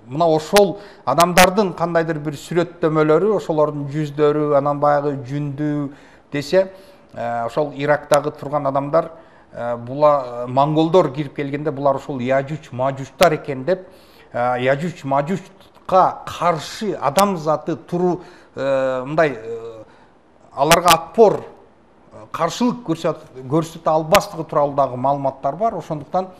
Мына ошол адамдардын кандайдыр бир сүрөттөмөлөрү, ошолордун жүздөрү, анан баягы жүндүү десе, ошол Ирактагы турган адамдар, була монголдор кирип келгенде булар ошол Яжуч Мажучтар экен деп, Яжуч Мажучка каршы адам заты туруу, мындай аларга отпор, каршылык көрсөтө албастыгы тууралуу дагы маалыматтар бар. Ошондуктан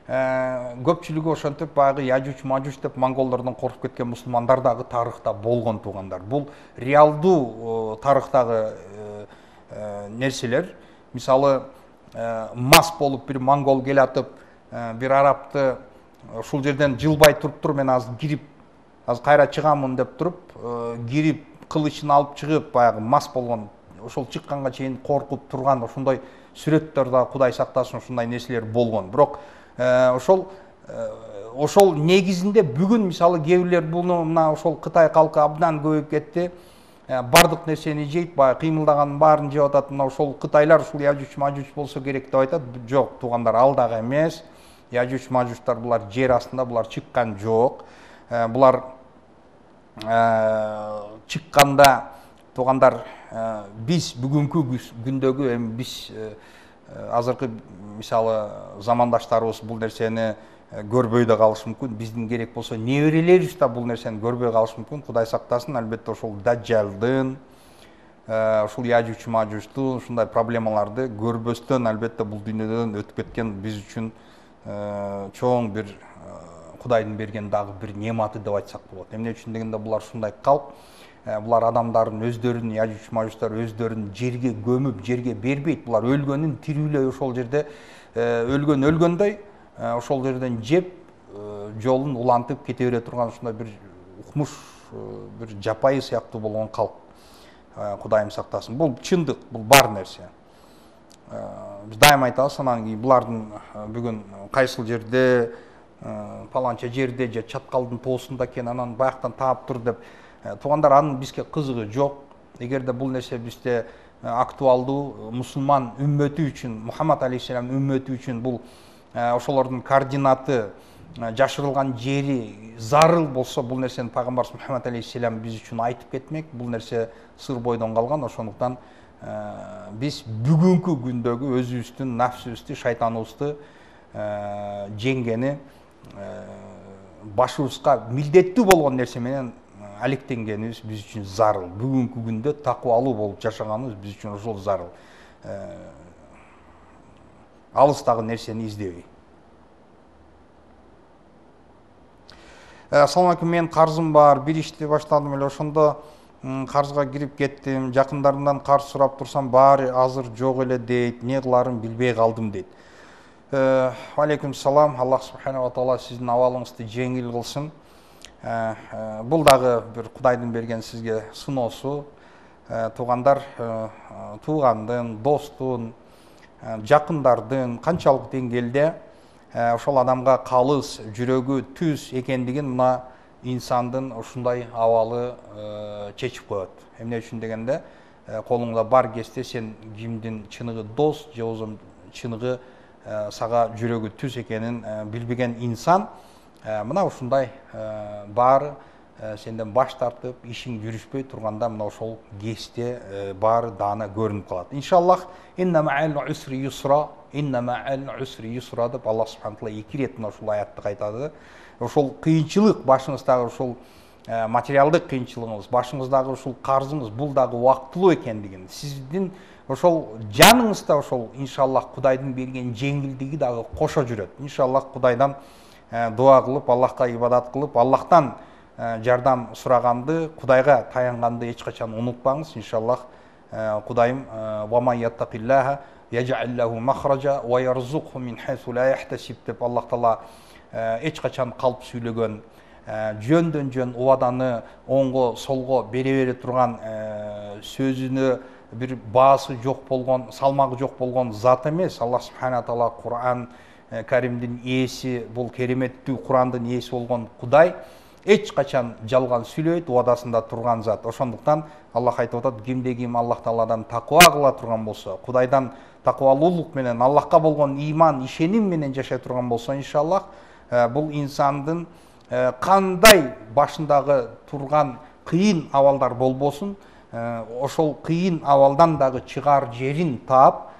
көпчүлүгү ошентип баягы Яжуч Мажуч деп монголдордон коркуп кеткен мусулмандар дагы тарыхта болгон туугандар. Бул реалдуу тарыхтагы нерселер. Мисалы, мас болуп бир монгол келатып, бир арабты ушул жерден жылбай туруп туруп, мен азыр кирип, азыр кайра чыгамын деп туруп, кирип кылычын алып чыгып, баягы мас болгон, ошол чыкканга чейин коркуп турган ошондой сүрөттөр да, Кудай сактасын, ушундай нерселер болгон. Бирок ошол ошол негизинде бүгүн мисалы кээ бирлер буну мына ошол Кытай калкы абдан көбөйүп кетти. Бардык нерсени жейт, баягы кыймылдаганын баарын жеп атат. Мына ошол кытайлар ушул Яжуч Мажуч болсо керек деп айтат. Жок, туугандар, ал дагы эмес. Яжуч Мажучтар булар жер астында, булар чыккан жок. Булар чыкканда, туугандар, биз бүгүнкү күндөгү, эми биз азыркы мисалы замандаштарыбыз бул нерсени көрбөй да калышы мүмкүн. Биздин керек болсо неберелерибиз да бул нерсени көрбөй калышы мүмкүн. Кудай сактасын. Албетте ошол Даджалдын, ушул Яжуч Мажучтун ушундай проблемаларды көрбөстөн, албетте бул дүйнөдөн өтүп кеткен биз үчүн чоң бир Кудайдын берген дагы бир нематы деп айтсак болот. Эмне үчүн дегенде, булар ушундай калп, булар адамдардын өздөрүн, Яжуч Мажучтар өздөрүн жерге көмүп, жерге бербейт. Булар өлгөнүн тирүүлөй ошол жерде өлгөн өлгөндөй ошол жерден жеп, жолун улантып кете бере турган ушундай бир укмуш, бир жапайы сыяктуу болгон калп. Кудайым сактасын. Бул чындык, бул бар нерсе. Биз дайыма айтабыз, анан кийин булардын бүгүн кайсыл жерде, паланча жерде же чаткалдын тоосунда экен, анан баяктан таап тур деп, туугандар, анын бизге кызыгы жок. Эгерде бул нерсе бизде актуалдуу, мусулман үммөтү үчүн, Мухаммад алейхиссалам үммөтү үчүн бул ошолордун координаты, жашырылган жери зарыл болсо, бул нерсени пайгамбарыбыз Мухаммад алейхиссалам биз үчүн айтып кетмек. Бул нерсе сыр бойдон калган. Ошондуктан биз бүгүнкү күндөгү өзүбүздүн нафсыбызды, шайтаныбызды жеңгени, башыбызга милдеттүү болгон нерсе менен алектенгенибиз биз үчүн зарыл. Бүгүнкү күндө такыбалуу болуп жашаганыбыз биз үчүн ошол зарыл. Алыстагы нерсени издебей. Assalamu alaikum, мен карзым бар, бир ишти баштадым эле, ошондо карзга кирип кеттим. Жакындарымдан карз сурап турсам, баары азыр жок эле дейт. Не кыларым билбей калдым дейт. Алейкум салам. Аллах субхана ва таала сиздин абалыңызды жеңил кылсын. Бул дагы бир Кудайдын берген сизге сыноосу. Туугандар, туугандын, достун, жакындардын канчалык деңгээлде ошол адамга калыс, жүрөгү түз экендигин мына инсандын ушундай абалы чечип коет. Эмне үчүн дегенде, колуңда бар кезде сен кимдин чыныгы дос же болбосо чыныгы сага жүрөгү түз экенин билбеген инсан мына ушундай баары сенден баш тартып ишиң жүрүшпөй турганда мына ошол кесте баары даана көрүнүп калат. Иншаллах инна ма'ал усри юсра, инна ма'ал усри юсра деп Аллах субханаху таала эки рет мына ушул аятты кайтады. Ошол кыйынчылык, башыңыздагы ушул материалдык кыйынчылыгыңыз, башыңыздагы ушул карзыңыз бул дагы убактылуу экендигин, сиздин ошол жаныңызда ошол иншаллах Кудайдын берген жеңилдиги дагы кошо жүрөт. Иншаллах Кудайдан дуа кылып, Аллахка ибадат кылып, Аллахтан жардам сураганды, Кудайга таянганды эч качан унутпаңыз. Иншаллах Кудайым ва ман яттакиллаха яж'ал лаху махража ва ярзукху мин хайсу ла яхтасиб деп Аллах таала эч качан калп сүйлөгөн, жөндөн жөн убаданы оңго солго бере бере турган, сөзүнө бир баасы жок болгон, салмагы жок болгон зат эмес. Аллах субхана таала Кур'ан Каримдин ээси, бул кереметтүү Кур'андын ээси болгон Кудай эч качан жалган сүйлөйт, убадасында турган зат. Ошондуктан Аллах айтып атат, кимде ким Аллах тааладан таква кыла турган болсо, Кудайдан таквалуулук менен, Аллахка болгон иман, ишеним менен жашай турган болсо, иншаллах бул инсандын кандай башындагы турган кыйын абалдар болбосун, ошол кыйын абалдан дагы чыгаар жерин таап,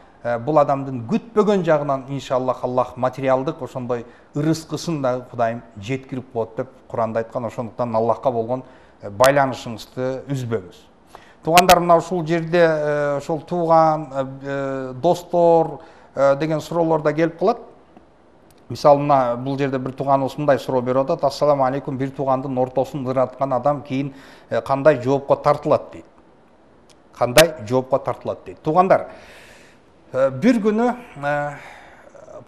бул адамдын күтпөгөн жагынан иншаллах Аллах материалдык ошондой ырыскысын дагы Кудайым жеткирип коет деп Куранда айткан. Ошондуктан Аллахка болгон байланышыңызды үзбөңүз. Туугандар, мына ушул жерде ошол тууган, достор деген суроолор да келип калат. Мисалы, мына бул жерде бир тууганыбыз мындай суроо берип атат: ассаламу алейкум, бир туугандын ортосун ыраткан адам кийин кандай жоопко тартылат дейт? Кандай жоопко тартылат дейт? Туугандар, бир күнү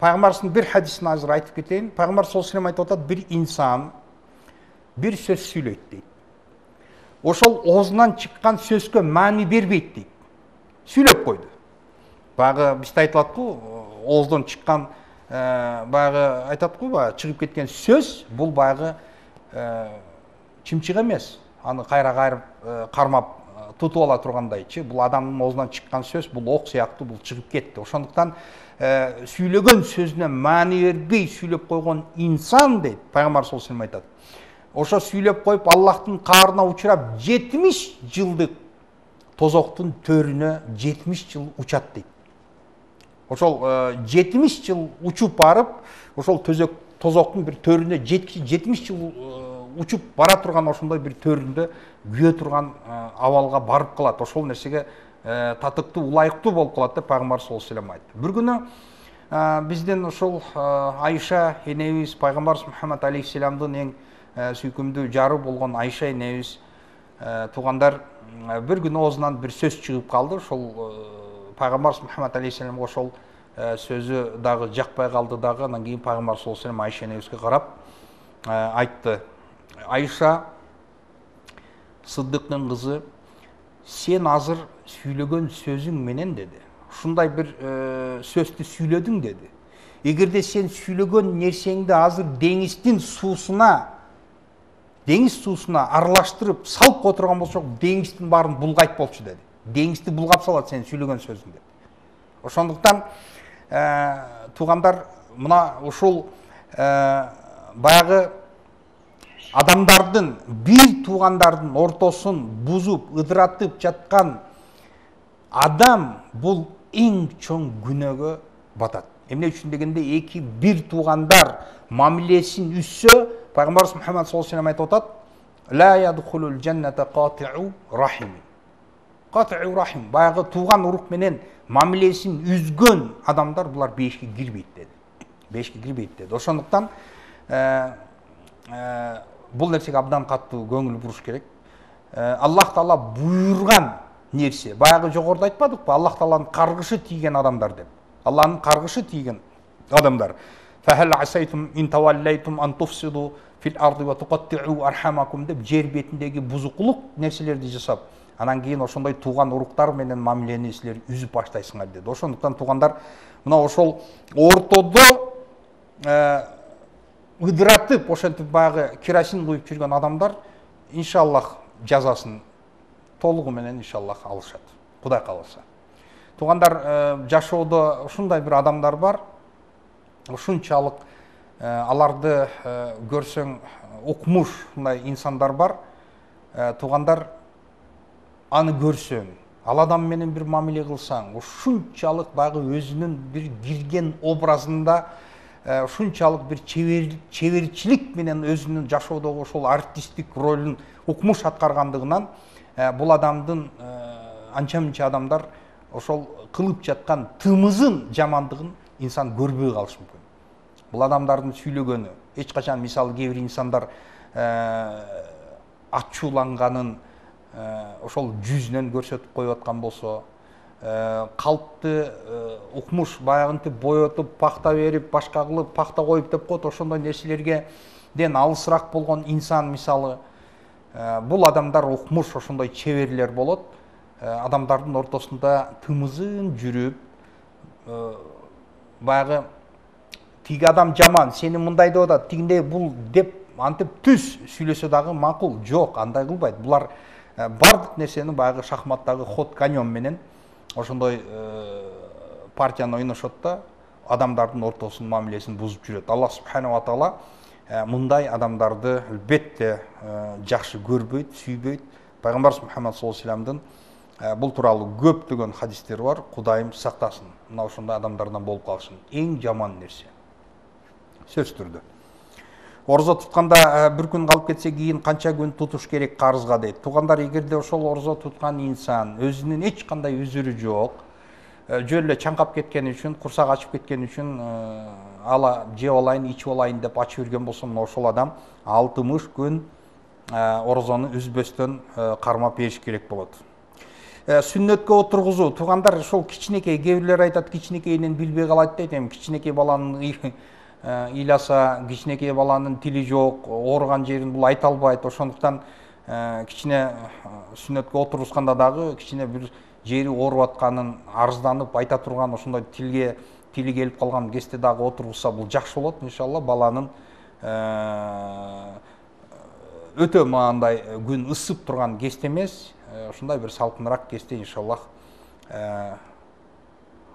пайгамбарыбыздын бир хадисин азыр айтып кетейин. Пайгамбар саллаллаху алейхи ва саллям айтып атат: бир инсан бир сөз сүйлөйт дейт. Ошол оозунан чыккан сөзгө маани бербейт дейт. Сүйлөп койду. Баягы бизде айтылат го, ооздон чыккан, баягы айтат го, баягы чыгып кеткен сөз, бул баягы чымчык эмес. Аны кайра кайрып кармап тутуп ала тургандайчы, бул адамдын оозунан чыккан сөз, бул ок сыяктуу, бул чыгып кетти. Ошондуктан сүйлөгөн сөзүнө маани бербей сүйлөп койгон инсан дейт, пайгамбар саллаллаху алейхи ва саллям айтат, ошо сүйлөп коюп Аллахтын каарына учурап жетимиш жылдык тозоктун төрүнө жетимиш жыл учат дейт. Ошол жетимиш жыл учуп барып, ошол төзөк тозоктун бир төрүнө жетимиш жыл учуп бара турган ошондой бир төрүндө күйө турган абалга барып калат. Ошол нерсеге татыктуу, улайыктуу болуп калат деп пайгамбар саллаллаху алейхи ва саллям айтты. Бир күнү биздин ошол Айша энебиз, пайгамбар Мухаммад алейхиссаламдын эң сүйкүмдүү жары болгон Айша энебиз, туугандар, бир күнү оозунан бир сөз чыгып калды. Ошол пайгамбар Мухаммад алейхиссаламга ошол сөзү дагы жакпай калды дагы. Андан кийин пайгамбар саллаллаху алейхи ва саллям Айша энебизге карап айтты: Айша, Сыддыктын кызы, сен азыр сүйлөгөн сөзүң менен деди, ушундай бир сөздү сүйлөдүң деди. Эгерде сен сүйлөгөн нерсеңди азыр деңиздин суусуна, деңиз суусуна аралаштырып салып отурган болсок, деңиздин баарын булгайт болчу деди. Деңизди булгап салат сен сүйлөгөн сөзүң деди. Ошондуктан туугандар, мына ушул баягы адамдардын, бир туугандардын ортосун бузуп, ыдыратып жаткан адам бул эң чоң күнөөгө батат. Эмне үчүн дегенде, эки бир туугандар мамилесин үзсө, пайгамбар Мухаммад саллаллаху алейхи ва саллям айтып атат: ла ядхулул жанната кати'у рахим. Кати'у рахим, баягы тууган урук менен мамилесин үзгөн адамдар булар бешикке кирбейт деди. Бешикке кирбейт деди. Ошондуктан бул нерсеге абдан катуу көңүл буруш керек. Аллах таала буйрган нерсе, баягы жогоруда айтпадыкпы, Аллах тааланын каргышы тийген адамдар деп. Аллахнын каргышы тийген адамдар. Фахал асайтум ин таваллайтум ан туфсиду фил арди ва туқатти'у архамакум деп жер бетиндеги бузукулук нерселерди жасап, анан кийин ошондой тууган уруктар менен мамилени силер үзүп баштайсыңар деди. Ошондуктан туугандар, мына ошол ортодо ыдыратып, ошентип баягы керосин куюп жүргөн адамдар иншаллах жазасын толугу менен иншаллах алышат, Кудай кааласа. Туугандар, жашоодо ушундай бир адамдар бар, ушунчалык аларды көрсөң укмуш мындай инсандар бар. Туугандар, аны көрсөң, ал адам менен бир мамиле кылсаң, ушунчалык багы өзүнүн бир кирген образында ушунчалык бир чеберчилик менен өзүнүн жашоодогу ошол артисттик ролун укмуш аткаргандыгынан бул адамдын анча мынча адамдар ошол кылып жаткан тымызын жамандыгын инсан көрбөй калышы мүмкүн. Бул адамдардын сүйлөгөнү эч качан, мисалы, кээ бир инсандар ачууланганын ошол жүзүнөн көрсөтүп коюп аткан болсо, калпты укмуш баягынтип боетуп, пахта берип, башка кылып, пахта коюп деп коет, ошондой нерселерге ден алысыраак болгон инсан, мисалы, бул адамдар укмуш ошондой чеберлер болот. Адамдардын ортосунда тымызын жүрүп, баягы тиги адам жаман, сени мындай деп атат, тигиндей бул деп антип түз сүйлөсө дагы макул. Жок, андай кылбайт. Булар бардык нерсени баягы шахматтагы ход конем менен ошондой партияны ойношот да, адамдардын ортосунун мамилесин бузуп жүрөт. Аллах субханаху ва таала мындай адамдарды албетте жакшы көрбөйт, сүйбөйт. Пайгамбарыбыз Мухаммад саллаллаху алейхи вассаламдын бул тууралуу көптөгөн хадистери бар. Кудайым сактасын, мына ошондой адамдардан болуп калышын. Эң жаман нерсе. Сөз түрдө. Орзо тутканда бир күн калып кетсе, кийин канча күн тутуш керек карызга дейт. Туугандар, эгерде ошол орзо туткан инсан өзүнүн эч кандай үзүрү жок, жөн эле чаңкап кеткен үчүн, курсак ачып кеткен үчүн ала жеп алайын, ичип алайын деп ачып жүргөн болсо, мына ошол адам алтымыш күн орзону үзбөстөн кармап бериш керек болот. Сүннөткө отургузуу. Туугандар, ошол кичинекей, кээ бирлер айтат, кичинекейинен билбей калат дейт. Эми кичинекей баланын ыйласа, кичинекей баланын тили жок, ооруган жерин бул айта албайт. Ошондуктан кичине сүннөткө отургузганда дагы кичине бир жери ооруп атканын арызданып айта турган, ошондой тилге тили келип калган кезде дагы отургузса, бул жакшы болот. Иншалла баланын өтө мындай күн ысып турган кезде эмес, ушундай бир салкыныраак кезде иншаллах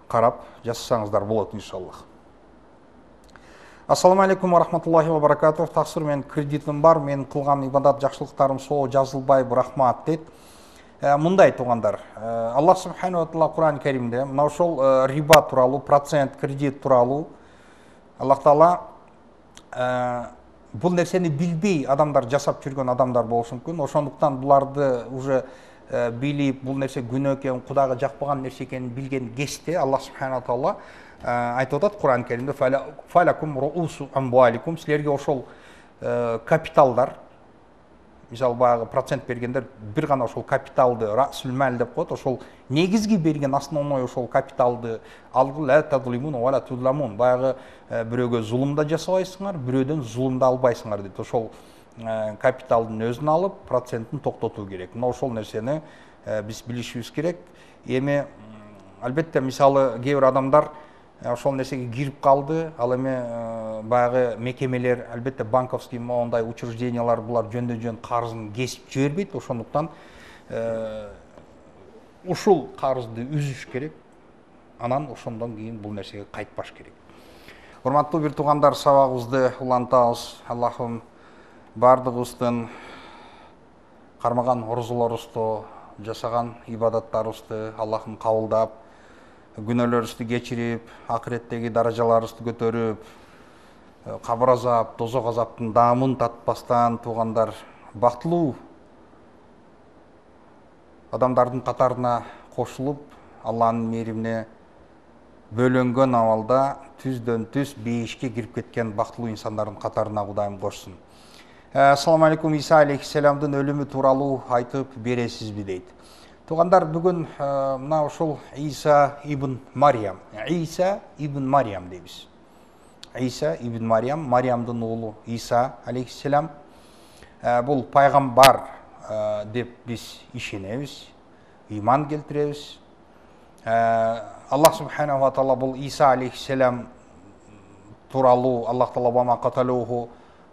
карап жасасаңыздар болот иншаллах. Ассаламу алейкум ва рахматуллахи ва баракатух. Таксир, мен кредитим бар, мен кылган ибадат жакшылыктарым соо жазылбай, рахмат дейт. Мындай туугандар, Аллах субханаху ва таала Кур'ан Каримде мына ошол риба тууралуу, процент, кредит тууралуу Аллах таала бул нерсени билбей адамдар жасап жүргөн адамдар болушу мүмкүн. Ошондуктан буларды уже билип, бул нерсе күнөө экен, Кудайга жакпаган нерсе экенин билген кезде Аллах субханаху ва таала айтып атат Кур'ан Каримде: фалакум руусу амваликум, силерге ошол капиталдар, мисалы баягы процент бергендер бир гана ошол капиталды расул мал деп коет, ошол негизги берген основной ошол капиталды алгыла, ла тадлимун ва ла тузламун, баягы бирөөгө зулум да жасабайсыңар, бирөөдөн зулум да албайсыңар дейт. Ошол капиталдын өзүн алып, процентин токтотуу керек. Мына ошол нерсени биз билишибиз керек. Эми албетте, мисалы, кээ бир адамдар ошол нерсеге кирип калды, ал эми баягы мекемелер, албетте банковский моундай учреждениялар булар жөндөн жөн карызын кесип жибербейт. Ошондуктан ушул карызды үзүш керек, анан ошондон кийин бул нерсеге кайтпаш керек. Урматтуу бир туугандар, сабагыбызды улантабыз. Аллахым бардыгыбыздын кармаган орзолорубузду, жасаган ибадаттарыбызды Аллахым кабылдап, күнөөлөрүбүздү кечирип, акыреттеги даражаларыбызды көтөрүп, кабыр азап, тозок азаптын даамын татпастан, туугандар, бактылуу адамдардын катарына кошулуп, Алланын мээримине бөлөнгөн абалда түздөн түз бейишке кирип кеткен бактылуу инсандардын катарына Кудайым кошсун. Ассаламу алейкум, Иса алейхиссаламдын өлүмү тууралуу айтып бересизби дейт. Туугандар, бүгүн мына ошол Иса ибн Мариям, Иса ибн Мариям дейбиз. Иса ибн Мариям, Мариямдын уулу Иса алейхиссалам, бул пайгамбар деп биз ишенебиз, иман келтиребиз. Аллах субханаху ва таала бул Иса алейхиссалам тууралуу Аллах таала вама каталуху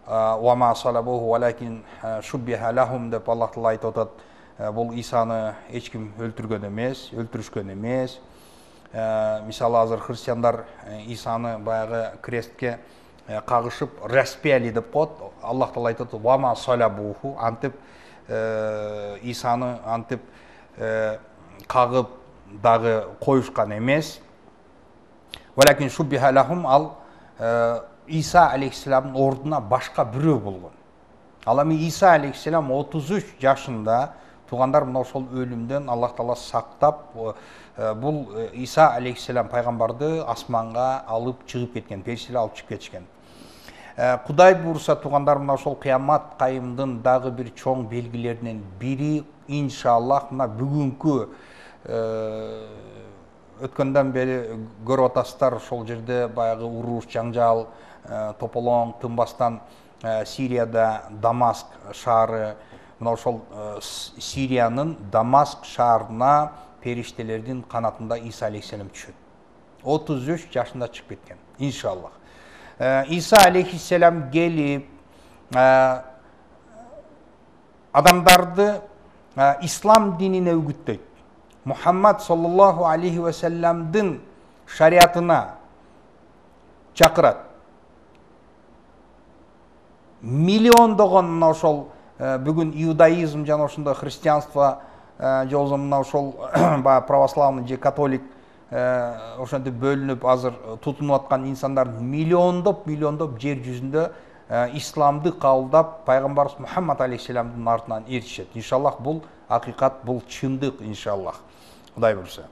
вама салабуху валакин шуббиха лахум деп Аллах таала айтып атат. Бул Исаны эч ким өлтүргөн эмес, өлтүрүшкөн эмес. Мисалы азыр христиандар Исаны баягы крестке кагышып распяли деп коет. Аллах таала айтат: "Вама салабуху", антип Исаны антип кагып дагы коюшкан эмес. Валакин шуббиха лахум, ал Иса алейхиссаламдын ордуна башка бирөө болгон. Ал эми Иса алейхиссалам отуз үч жашында туугандар мына ошол өлүмдөн Аллах таала сактап, бул Иса алейхиссалам пайгамбарды асманга алып чыгып кеткен, периштелер алып чыгып кетишкен. Кудай буйруса туугандар, мына ошол кыямат кайымдын дагы бир чоң белгилеринен бири иншаллах мына бүгүнкү өткөндөн бери көрүп атасыздар, ошол жерде баягы уруш, жаңжал, тополоң тынбастан Сирияда Дамаск шаары, мына ошол Сириянын Дамаск шаарына периштелердин канатында Иса алейхиссалам түшөт. отуз үч жашында чыгып кеткен, иншаллах. Иса алейхиссалам келип адамдарды ислам динине үгүттөйт. Мухаммад саллаллаху алейхи ва салламдын шариатына чакырат. Миллиондогон мына ошол бүгүн иудаизм жана ошондой христианство же болбосо мына ошол баягы православный же католик ошентип бөлүнүп азыр тутунуп аткан инсандардын миллиондоп миллиондоп жер жүзүндө исламды кабылдап пайгамбарыбыз Мухаммад алейхиссаламдын артынан эртишет. Иншаллах бул акыйкат, бул чындык, иншаллах. Кудай буйруса.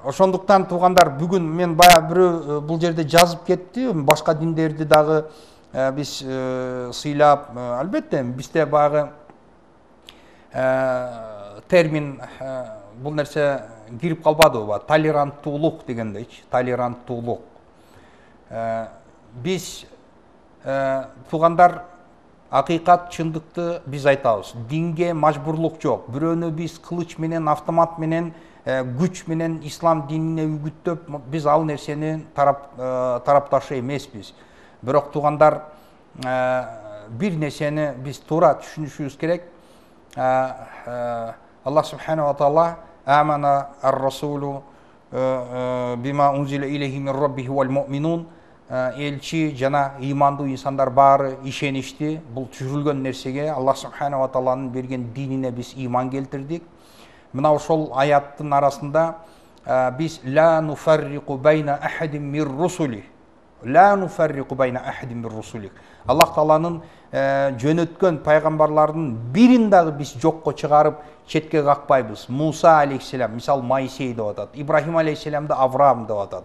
Ошондуктан туугандар, бүгүн мен баягы бирөө бул жерде жазып кетти, башка диндерди дагы биз сыйлап, албетте бизде баягы термин бул нерсе кирип калбадыбы, толеранттуулук дегендейчи, толеранттуулук. Биз туугандар, акыйкат, чындыкты биз айтабыз. Динге мажбурлук жок. Бирөөнү биз кылыч менен, автомат менен, күч менен ислам динине үгүттөп, биз ал нерсени тарап тарапташы эмеспиз. Бирок туугандар, бир нерсени биз туура түшүнүшүбүз керек. Аллах субхана ва таала амана ар-расулу бима унзила илейхи мин раббихи вал муъминун, элчи жана ыймандуу инсандар баары ишеништи. Бул түшүрүлгөн нерсеге, Аллах субхана ва тааланын берген динине биз ыйман келтирдик. Мына ошол аяттын арасында биз ла нуфарриқу байна ахадин мир русули, ла нуфарриқу байна ахадин мир русули, Аллах тааланын жөнөткөн пайгамбарлардын бирин дагы биз жокко чыгарып четке какпайбыз. Муса алейхиссалам, мисал Моисей деп атат, Ибрахим алейхиссаламды Авраам деп атат,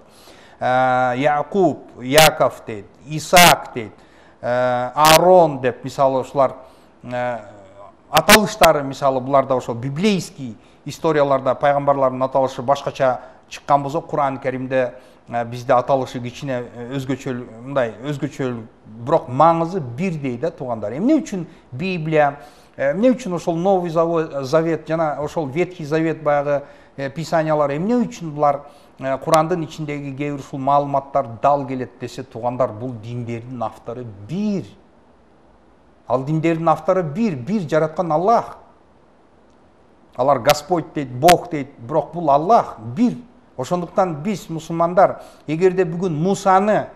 Якуб, Яков дейт, Исаак дейт, Аарон деп, мисалы ушулар аталыштары, мисалы буларда ошо библейский историяларда пайгамбарлардын аталышы башкача чыккан болсо, Кур'ан Каримде бизде аталышы кичине өзгөчө, мындай өзгөчө, бирок маңызы бирдей да туугандар. Эмне үчүн Библия, эмне үчүн ошол Новый Завет жана ошол Ветхий Завет баягы писаниялар, эмне үчүн булар Курандын ичиндеги кээ бир ушул маалыматтар дал келет десе, туугандар, бул диндердин автору бир. Ал диндердин автору бир, бир жараткан Аллах. Алар Господь дейт, Бог дейт, бирок бул Аллах бир. Ошондуктан биз мусулмандар, эгерде бүгүн Мусаны,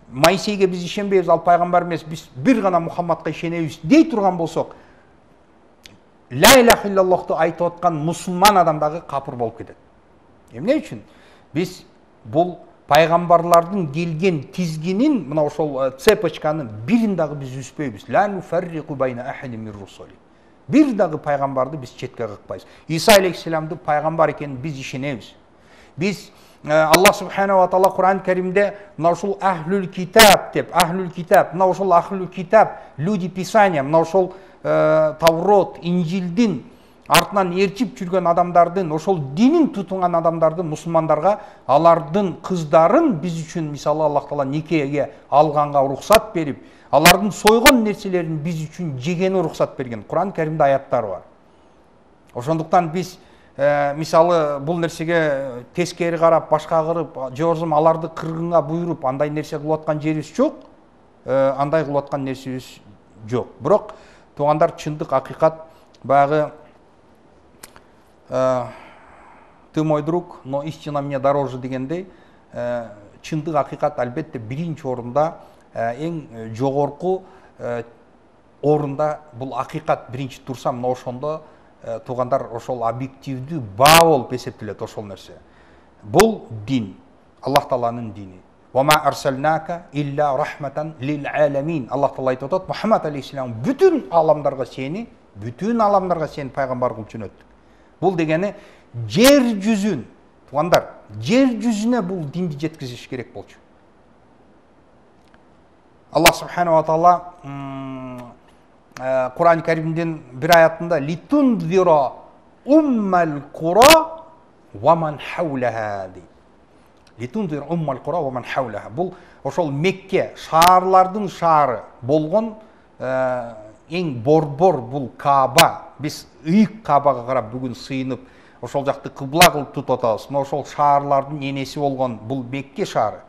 Моисейге биз ишенбейбиз, ал пайгамбар эмес, биз бир гана Мухаммадка ишенебиз дей турган болсок, ла илаха иллаллахты айтып аткан мусулман адам дагы капыр болуп кетет. Эмне үчүн? Биз бул пайгамбарлардын келген тизгинин, мына ошол цепочканын бирин дагы биз үзбөйбүз. Ла нуфарриқу байна ахадин мир русули. Бир дагы пайгамбарды биз четке какпайбыз. Иса алейхиссаламды пайгамбар экенин биз ишенебиз. Биз Аллах субхана ва таала Кур'ан Каримде мына ушул ахлул китаб деп, ахлул китаб, мына ушул ахлул китаб, люди писания, мына ушул Таврот, Инжилдин артынан ээрчип жүргөн адамдардын, ошол динин тутунган адамдардын, мусулмандарга алардын кыздарын биз үчүн, мисалы Аллах таала никеге алганга уруксат берип, алардын сойгон нерселерин биз үчүн жегени уруксат берген. Кур'ан Каримде аяттар бар. Ошондуктан биз мисалы бул нерсеге тескери карап, башка кырып, же болбосо аларды кыргынга буйруп, андай нерсе кылып аткан жерибиз жок, андай кылып аткан нерсебиз жок. Бирок туугандар, чындык, акыйкат баягы ты мой друг, но истина мне дороже дегендей, чындык акыйкат албетте биринчи орунда, эң жогорку орунда бул акыйкат биринчи турса, мына ошондо туугандар ошол объективдүү баа болуп эсептелет ошол нерсе. Бул дин, Аллах Тааланын дини. Вама арсалнака илля рахматан лил аламин. Аллах Таала айтып атат, Мухаммад алейхиссалам бүтүн аламдарга сени, бүтүн аламдарга сени пайгамбар кылып жөнөттүк. Бул дегени жер жүзүн, туугандар, жер жүзүнө бул динди жеткизиш керек болчу. Аллах субханаху ва таала Кур'ан Каримдин бир аятында литундира уммал кура ва ман хаулаха дейт. Литундира уммал кура ва ман хаулаха. Бул ошол Мекке шаарлардын шаары болгон эң борбор бул Кааба. Биз ыйык Каабага карап бүгүн сыйынып, ошол жакты кыбла кылып тутуп атабыз. Мына ошол шаарлардын энеси болгон бул Мекке шаары.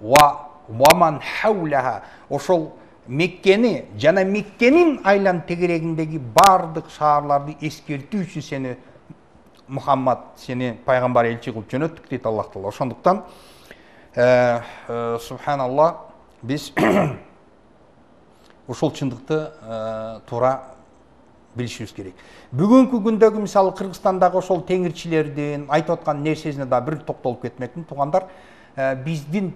Ва ваман хаулаха, ошол Меккени жана Меккенин айлан тегерегиндеги бардык шаарларды эскертүү үчүн сени Мухаммад, сени пайгамбар элчи кылып жөнөттүк дейт Аллах Таала. Ошондуктан субханаллах, биз ошол чындыкты туура билишибиз керек. Бүгүнкү күндөгү мисалы Кыргызстандагы ошол теңирчилердин айтып аткан нерсесине да бир токтолуп кетмекмин. Туугандар, биздин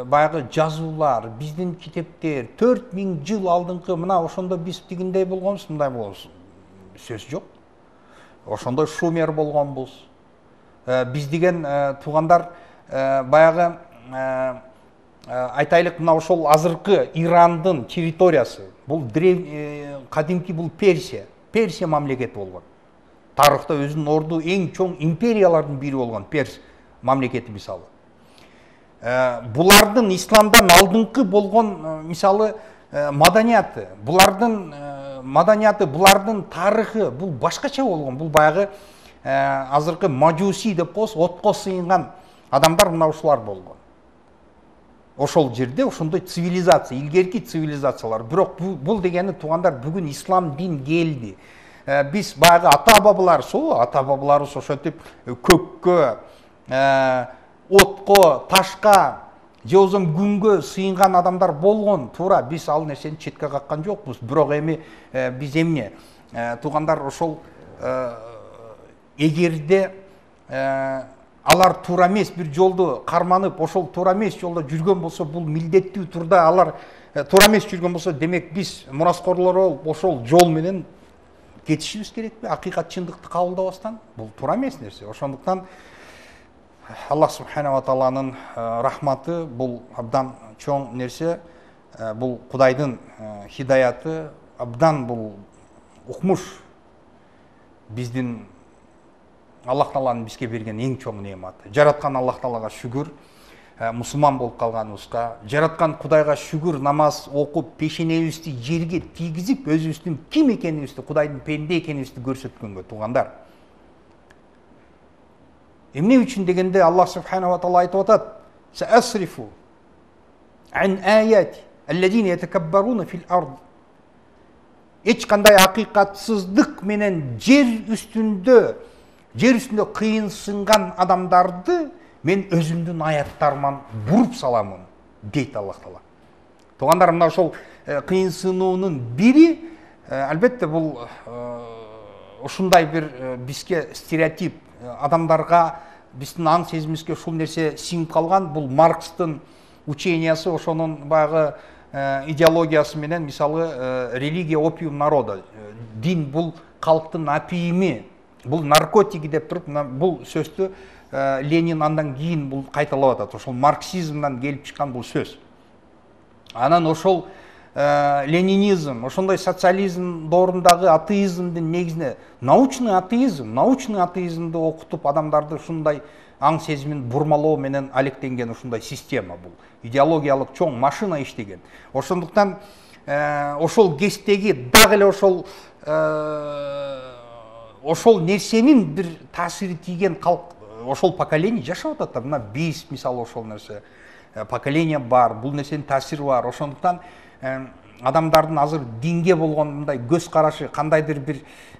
баягы жазуулар, биздин китептер төрт миң жыл алдыңкы мына ошондо биз тигиндей болгонбуз, мындай болгонбуз. Сөз жок. Ошондой шумер болгонбуз. Биз деген туугандар баягы айтайлык, мына ошол азыркы Ирандын территориясы, бул кадимки бул Персия, Персия мамлекети болгон. Тарыхта өзүнүн орду эң чоң империялардын бири болгон Перс мамлекети мисалы. Булардын исламдан алдыңкы болгон мисалы маданияты, булардын маданияты, булардын тарыхы бул башкача болгон. Бул баягы азыркы мажуси деп коебуз, отко сыйынган адамдар мына ушулар болгон. Ошол жерде ошондой цивилизация, илгерки цивилизациялар. Бирок бул дегени туугандар бүгүн ислам дин келди. Биз баягы ата-бабалар, со ата-бабаларыбыз ошентип көккө, отко, ташка, же болбосо күнгө сыйынган адамдар болгон. Туура, биз ал нерсени четке каккан жокпуз. Бирок эми биз эмне? Туугандар, ошол эгерде алар туура эмес бир жолду карманып, ошол туура эмес жолдо жүргөн болсо, бул милдеттүү турда алар туура эмес жүргөн болсо, демек биз мураскорлор болуп ошол жол менен кетишибиз керекпи? Акыйкат чындыкты кабылдабастан? Бул туура эмес нерсе. Ошондуктан Аллах субханаху ва тааланын рахматы бул абдан чоң нерсе. Бул Кудайдын хидаяты абдан бул укмуш. Биздин Аллах Тааланын бизге берген эң чоң неаматы. Жараткан Аллах Таалага шүгүр, мусулман болуп калганыбызга, жараткан Кудайга шүгүр, намаз окуп, пешенебизди жерге тийгизип, өзүбүздүн ким экенибизди, Кудайдын пенде экенибизди көрсөткөнгө, туугандар. Эмне үчүн дегенде Аллах субханаху ва таала айтып атат: "Саасрифу ан аяти аллазина ятакаббаруна фил ард". Эч кандай акыйкатсыздык менен жер үстүндө жер үстүндө кыйынсынган адамдарды мен өзүмдүн аяттарыман буруп саламын, дейт Аллах Таала. Туугандар, мына ошол кыйынсынуунун бири албетте бул ушундай бир бизге стереотип, адамдарга биздин аң сезимибизге ушул нерсе сиңип калган. Бул Маркстын учениясы, ошонун баягы идеологиясы менен, мисалы религия опиум народа, дин бул калктын апийими, бул наркотики деп туруп, бул сөздү Ленин андан кийин бул кайталап атат. Ошол марксизмден келип чыккан бул сөз. Анан ошол ленинизм, ошондой социализм доорундагы атеизмдин негизине научный атеизм, научный атеизмди окутуп адамдарды ушундай аң сезимин бурмалоо менен алектенген ушундай система. Бул идеологиялык чоң машина иштеген. Ошондуктан ошол кечтеги дагы эле ошол ошол нерсенин бир таасири тийген калк, ошол поколение жашап атат. Мына биз мисалы ошол нерсе поколение бар, бул нерсенин таасири бар. Ошондуктан адамдардын азыр динге болгон мындай көз карашы, кандайдыр бир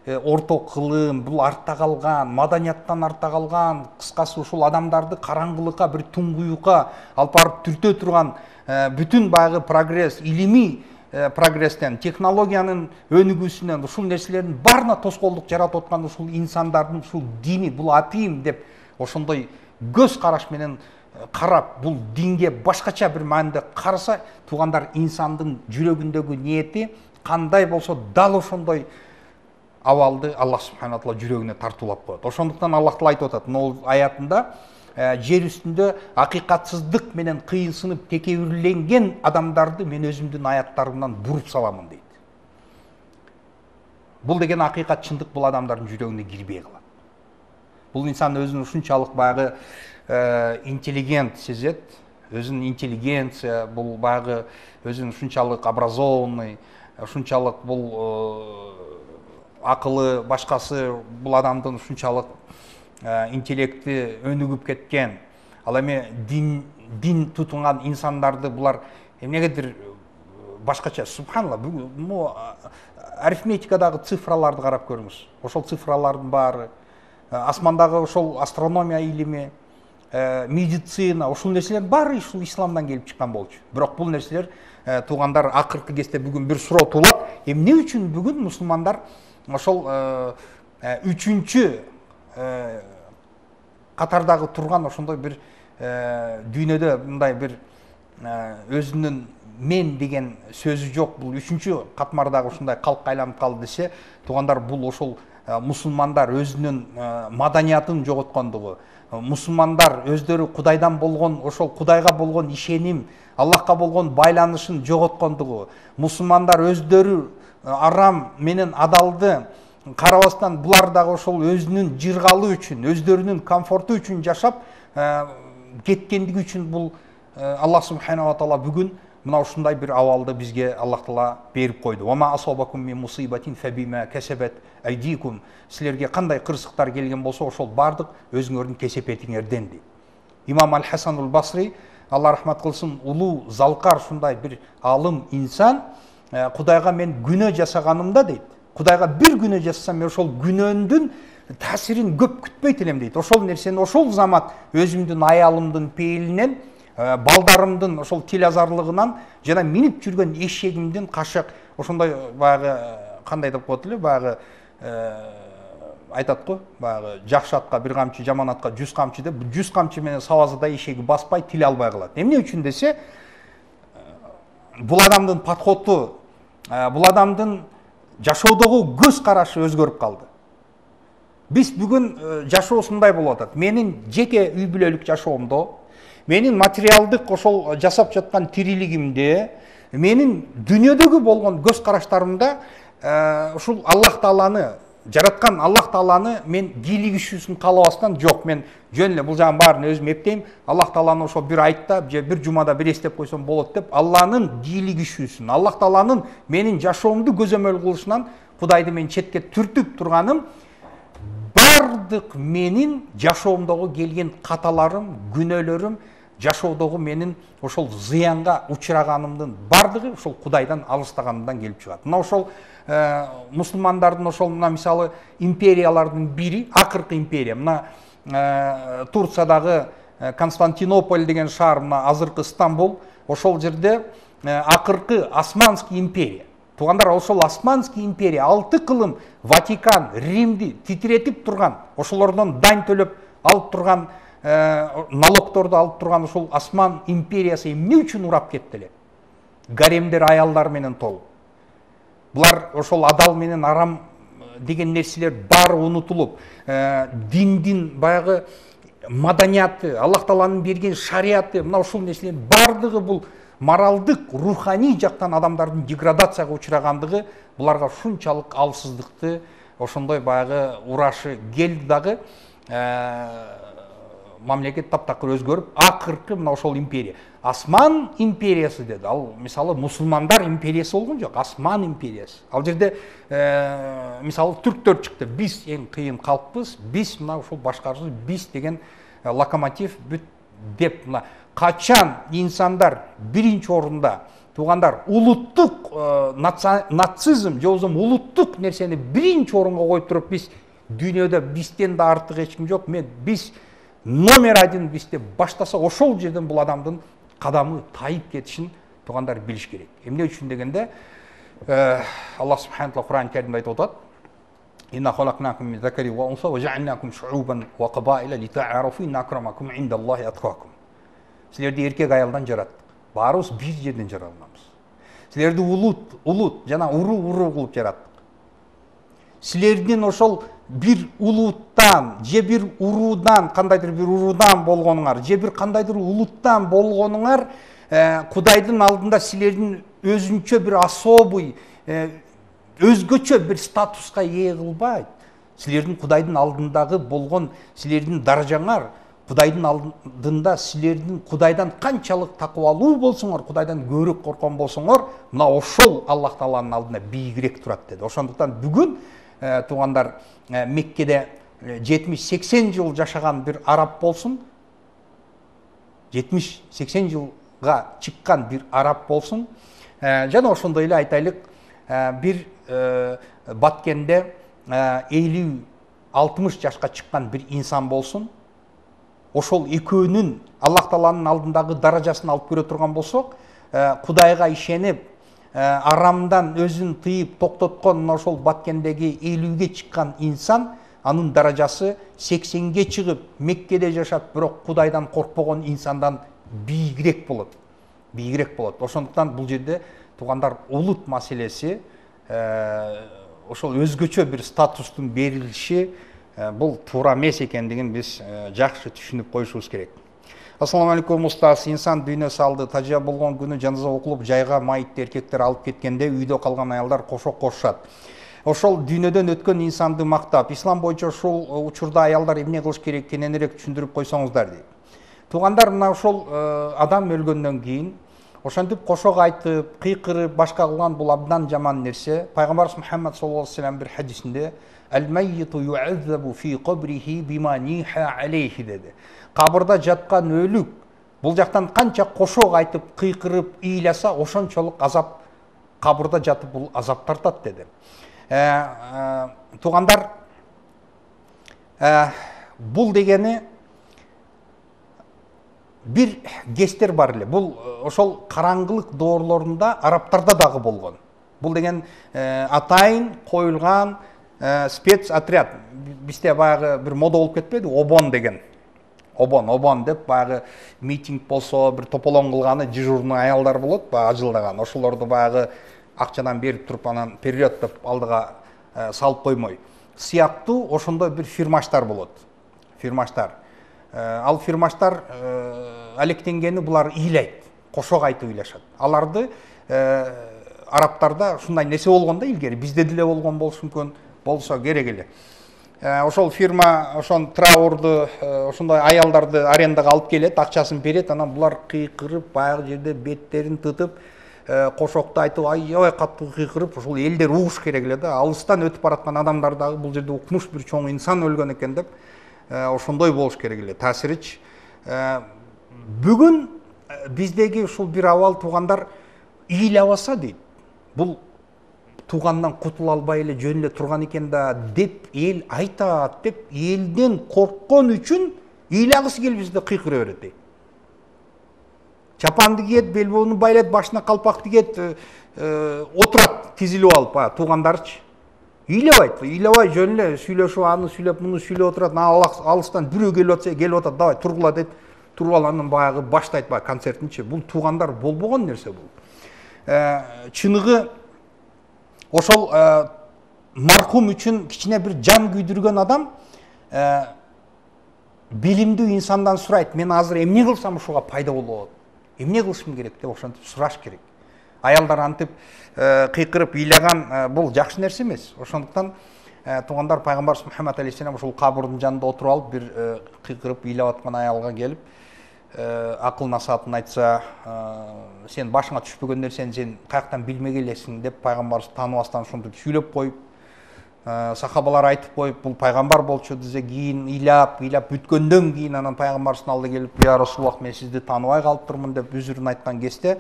орто кылым, бул артта калган, маданияттан артта калган, кыскасы ушул адамдарды караңгылыкка, бир туңгуюкка алып барып түртө турган бүтүн баягы прогресс, илимий прогресстен, технологиянын өнүгүүсүнөн ушул нерселердин баарына тоскоолдук жаратып аткан ушул инсандардын ушул дини, бул атыйм деп ошондой көз караш менен карап, бул динге башкача бир мааниде караса, туугандар, инсандын жүрөгүндөгү ниети кандай болсо дал ошондой абалды Аллах субхана таала жүрөгүнө тартуулап коет. Ошондуктан Аллах таала айтып атат мына аятында, жер үстүндө акыйкатсыздык менен кыйынсынып текебирленген адамдарды мен өзүмдүн аяттарымдан буруп саламын дейт. Бул деген акыйкат, чындык бул адамдардын жүрөгүнө кирбей калат. Бул инсан өзүн ушунчалык баягы интеллигент сезет, өзүнүн интеллигенция, бул баягы өзүн ушунчалык образованный, ушунчалык бул акылы, башкасы бул адамдын ушунчалык интеллекти өнүгүп кеткен. Ал эми дин дин тутунган инсандарды булар эмнегедир башкача, субханалла, бул арифметикадагы цифраларды карап көрүңүз. Ошол цифралардын баары, асмандагы ошол астрономия илими, медицина, ушул нерселер баары ушул исламдан келип чыккан болчу. Бирок бул нерселер туугандар акыркы кезде бүгүн бир суроо туулат. Эмне үчүн бүгүн мусулмандар ошол үчүнчү катардагы турган ошондой бир дүйнөдө мындай бир өзүнүн мен деген сөзү жок, бул үчүнчү катмардагы ушундай калкка айланып калды десе, туугандар, бул ошол мусулмандар өзүнүн маданиятын жоготкондугу, мусулмандар өздөрү Кудайдан болгон, ошол Кудайга болгон ишеним, Аллахка болгон байланышын жоготкондугу, мусулмандар өздөрү арам менен адалды карабастан булар дагы ошол өзүнүн жыргалы үчүн, өздөрүнүн комфорту үчүн жашап кеткендиги үчүн бул Аллах субханала таала бүгүн мына ушундай бир абалды бизге Аллах таала берип койду. Ва ма асабакум мин мусибатин фабима касабат айдикум. Силерге кандай кырсыктар келген болсо, ошол бардык өзүңөрдүн кесепетиңерден дейт. Имам Аль-Хасанул Басри, Алла рахмат кылсын, улуу залкар ушундай бир алым инсан, Кудайга мен күнөө жасаганымда дейт, Кудайга бир күнөө жасасам, мен ошол күнөөмдүн таасирин көп күтпөйт элем дейт. Ошол нерсени ошол замат өзүмдүн аялымдын пейилинен, балдарымдын ошол тил азарлыгынан жана минип жүргөн эшегимдин кашак, ошондой баягы кандай деп коет эле, баягы айтат го, баягы жакшы атка бир камчы, жаман атка жүз камчы деп, жүз камчы менен сабазыда эшеги баспай, тил албай калат. Эмне үчүн десе, бул адамдын подходу, бул адамдын жашоодогу көз карашы өзгөрүп калды. Биз бүгүн жашоосундай болуп атат. Менин жеке үй бүлөлүк жашоомдо, менин материалдык ошол жасап жаткан тирилигимде, менин дүйнөдөгү болгон көз караштарымда ушул Аллах тааланы, жараткан Аллах тааланы мен кийлигишүүсүн каалабастан жок, мен жөн эле бул жагын баарын өзүм эптейм. Аллах тааланы ошол бир айтта же бир жумада бир эстеп койсом болот деп, Алланын кийлигишүүсүн, Аллах тааланын менин жашоомду көзөмөл кылышынан Кудайды мен четке түртүп турганым, бардык менин жашоомдогу келген каталарым, күнөөлөрүм, жашоодогу менин ошол зыянга учураганымдын бардыгы ошол Кудайдан алыстаганымдан келип чыгат. Мына ошол мусулмандардын ошол мына мисалы империялардын бири, акыркы империя, мына Турциядагы Константинополь деген шаар, мына азыркы Стамбул, ошол жерде акыркы Османский империя. Туугандар, ошол Османский империя алты кылым Ватикан, Римди титиретип турган, ошолордон дань төлөп алып турган, налогторду алып турган ошол Осман империясы эмне үчүн урап кетти эле? Гаремдер аялдар менен толуп. Булар ошол адал менен арам деген нерселер баары унутулуп, диндин баягы маданияты, Аллах тааланын берген шариаты, мына ушул нерселердин бардыгы бул моралдык, руханий жактан адамдардын деградацияга учурагандыгы буларга ушунчалык алсыздыкты, ошондой баягы урашы келди дагы, мамлекет таптакыр өзгөрүп, акыркы мына ошол империя, Осман империясы деди. Ал мисалы мусулмандар империясы болгон жок, Осман империясы. Ал жерде мисалы түрктөр чыкты. Биз эң кыйын калкпыз, биз мына ушул башкарышыбыз, биз деген локомотив бүт деп мына качан инсандар биринчи орунда туугандар улуттук нацизм же болбосо улуттук нерсени биринчи орунга коюп туруп биз дүйнөдө бизден да артык эч ким жок, мен биз номер один биз деп баштаса ошол жерден бул адамдын кадамы тайып кетишин туугандар билиш керек. Эмне үчүн дегенде Аллах субхана таала Кур'ан Каримде айтып атат: «Инна халакнакум мин закари ва унса ва жаалнакум шуубан ва кабаила литаарафу инна акрамакум индаллахи аткакум». Силерди эркек аялдан жараттык. Баарыбыз бир жерден жаралганбыз. Силерди улут, улут жана уруу-уруу кылып жараттык. Силердин ошол бир улуттан, же бир уруудан, кандайдыр бир уруудан болгонуңар, же бир кандайдыр улуттан болгонуңар Кудайдын алдында силердин өзүнчө бир особый, өзгөчө бир статуска ээ кылбайт. Силердин Кудайдын алдындагы болгон силердин даражаңар, Кудайдын алдында силердин Кудайдан канчалык такыбалуу болсоңор, Кудайдан көбүрөөк корккон болсоңор, мына ошол Аллах Тааланын алдында бийигирээк турат деди. Ошондуктан бүгүн туугандар Меккеде жетимиш сексен жыл жашаган бир араб болсун, жетимиш сексен жылга чыккан бир араб болсун, жана ошондой эле айтайлык бир Баткенде элүү алтымыш жашка чыккан бир инсан болсун, ошол экөөнүн Аллах Тааланын алдындагы даражасын алып көрө турган болсок, Кудайга ишенип, арамдан өзүн тыйып токтоткон ошол Баткендеги элүүгө чыккан инсан, анын даражасы сексенге чыгып, Меккеде жашап, бирок Кудайдан коркпогон инсандан бийигирээк болот. Бийигирээк болот. Ошондуктан бул жерде туугандар улут маселеси, ошол өзгөчө бир статустун берилиши бул туура эмес экендигин биз жакшы түшүнүп коюшубуз керек. Ассаламу алейкум устаз. Инсан дүйнө салды, тажия болгон күнү жаназа окулуп, жайга майытты эркектер алып кеткенде үйдө калган аялдар кошок кошушат. Ошол дүйнөдөн өткөн инсанды мактап, ислам боюнча ушул учурда аялдар эмне кылыш керек, кененирээк түшүндүрүп койсоңуздар дейт. Туугандар, мына ошол адам өлгөндөн кийин ошентип кошок айтып, кыйкырып, башка кылган бул абдан жаман нерсе. Пайгамбарыбыз Мухаммад саллаллаху алейхи ва саллям бир хадисинде «Ал-маййту ю'аззабу фи кабрихи бима ниха алейхи» деди. Кабырда жаткан өлүк бул жактан канча кошок айтып, кыйкырып, ыйласа, ошончолук азап кабырда жатып бул азап тартат деди. Туугандар, бул дегени бир кестер бар эле. Бул ошол караңгылык доорлорунда арабтарда дагы болгон. Бул деген атайын коюлган спецотряд. Бизде баягы бир мода болуп кетпеди, обон деген. Обон, обон деп баягы митинг болсо, бир тополоң кылганы дежурный аялдар болот, баягы ажылдаган. Ошолорду баягы акчадан берип туруп анан период деп алдыга салып коймой. Сыяктуу ошондой бир фирмаштар болот. Фирмаштар. Ал фирмаштар алектенгени булар ыйлайт, кошок айтып ыйлашат. Аларды арабтарда ушундай нерсе болгон да илгери, бизде деле болгон болушу мүмкүн, болсо керек эле. Ошол фирма ошон траурду, ошондой аялдарды арендага алып келет, акчасын берет, анан булар кыйкырып, баягы жерде беттерин тытып, кошокту айтып, аябай катуу кыйкырып, ошол элдер угуш керек эле да. Алыстан өтүп бараткан адамдар дагы бул жерде укмуш бир чоң инсан өлгөн экен деп, ошондой болуш керек эле, таасиричи. Бүгүн биздеги ушул бир абал туугандар ыйлабаса дейт. Бул туугандан кутула албай эле жөн эле турган экен да деп эл айтат деп, элден корккон үчүн ыйлагысы келип бизде кыйкыра берет дейт. Чапанды кийет, белбоону байлайт, башына калпак тигет, отурат тизилип алып, туугандарчы. Ыйлабайт, ыйлабай жөн эле сүйлөшүп, аны сүйлөп, муну сүйлөп отурат. Алыстан бирөө келип атса, келип атат, давай тургула дейт. Туруп алып баягы баштайт баягы концертинчи. Бул туугандар болбогон нерсе бул. Чыныгы ошол мархум үчүн кичине бир жан күйдүргөн адам билимдүү инсандан сурайт, мен азыр эмне кылсам ушуга пайда болот? Эмне кылышым керек деп ошентип сураш керек. Аялдар антип кыйкырып ыйлаган бул жакшы нерсе эмес. Ошондуктан туугандар, пайгамбарыбыз Мухаммад алейхиссалам ошол кабырдын жанында отуруп алып, бир кыйкырып ыйлап аткан аялга келип, акыл насаатын айтса, сен башыңа түшпөгөн нерсени сен каяктан билмек элесиң деп пайгамбарыбыз тааныбастан ошентип сүйлөп коюп, сахабалар айтып коюп, бул пайгамбар болчу десе, кийин ыйлап ыйлап бүткөндөн кийин анан пайгамбардын алдына келип, я Расулуллах, мен сизди тааныбай калыптырмын деп үзүрүн айткан кезде,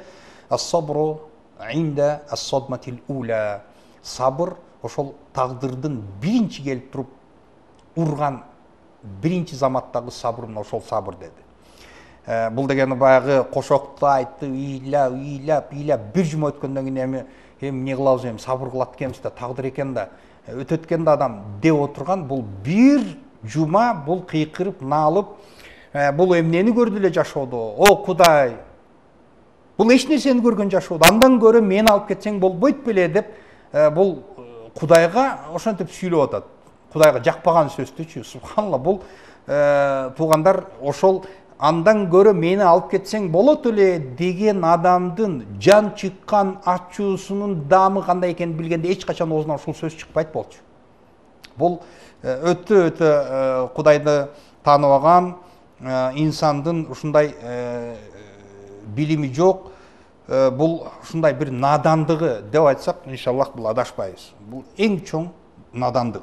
ас-сабру инда ас-садматил ула, сабыр ошол тагдырдын биринчи келип туруп урган биринчи заматтагы сабыр, мына ошол сабыр деди. Бул дегени баягы кошокту айтты, ыйлап ыйлап ыйлап бир жума өткөндөн кийин эми эми эмне кылабыз, эми сабыр кылат экенбиз да, тагдыр экен да, өтөт экен да адам деп отурган, бул бир жума бул кыйкырып наалып, бул эмнени көрдү эле жашоодо, о Кудай, бул эч нерсени көргөн жашоодо, андан көрө мени алып кетсең болбойт беле деп, бул Кудайга ошентип сүйлөп атат. Кудайга жакпаган сөздүчү, субханалла. Бул туугандар, ошол андан көрө мени алып кетсең болот эле деген адамдын жан чыккан ачуусунун даамы кандай экенин билгенде эч качан оозунан ушул сөз чыкпайт болчу. Бул өтө өтө Кудайды тааныбаган инсандын ушундай билими жок, бул ушундай бир надандыгы деп айтсак, иншаллах бул адашпайбыз. Бул эң чоң надандык.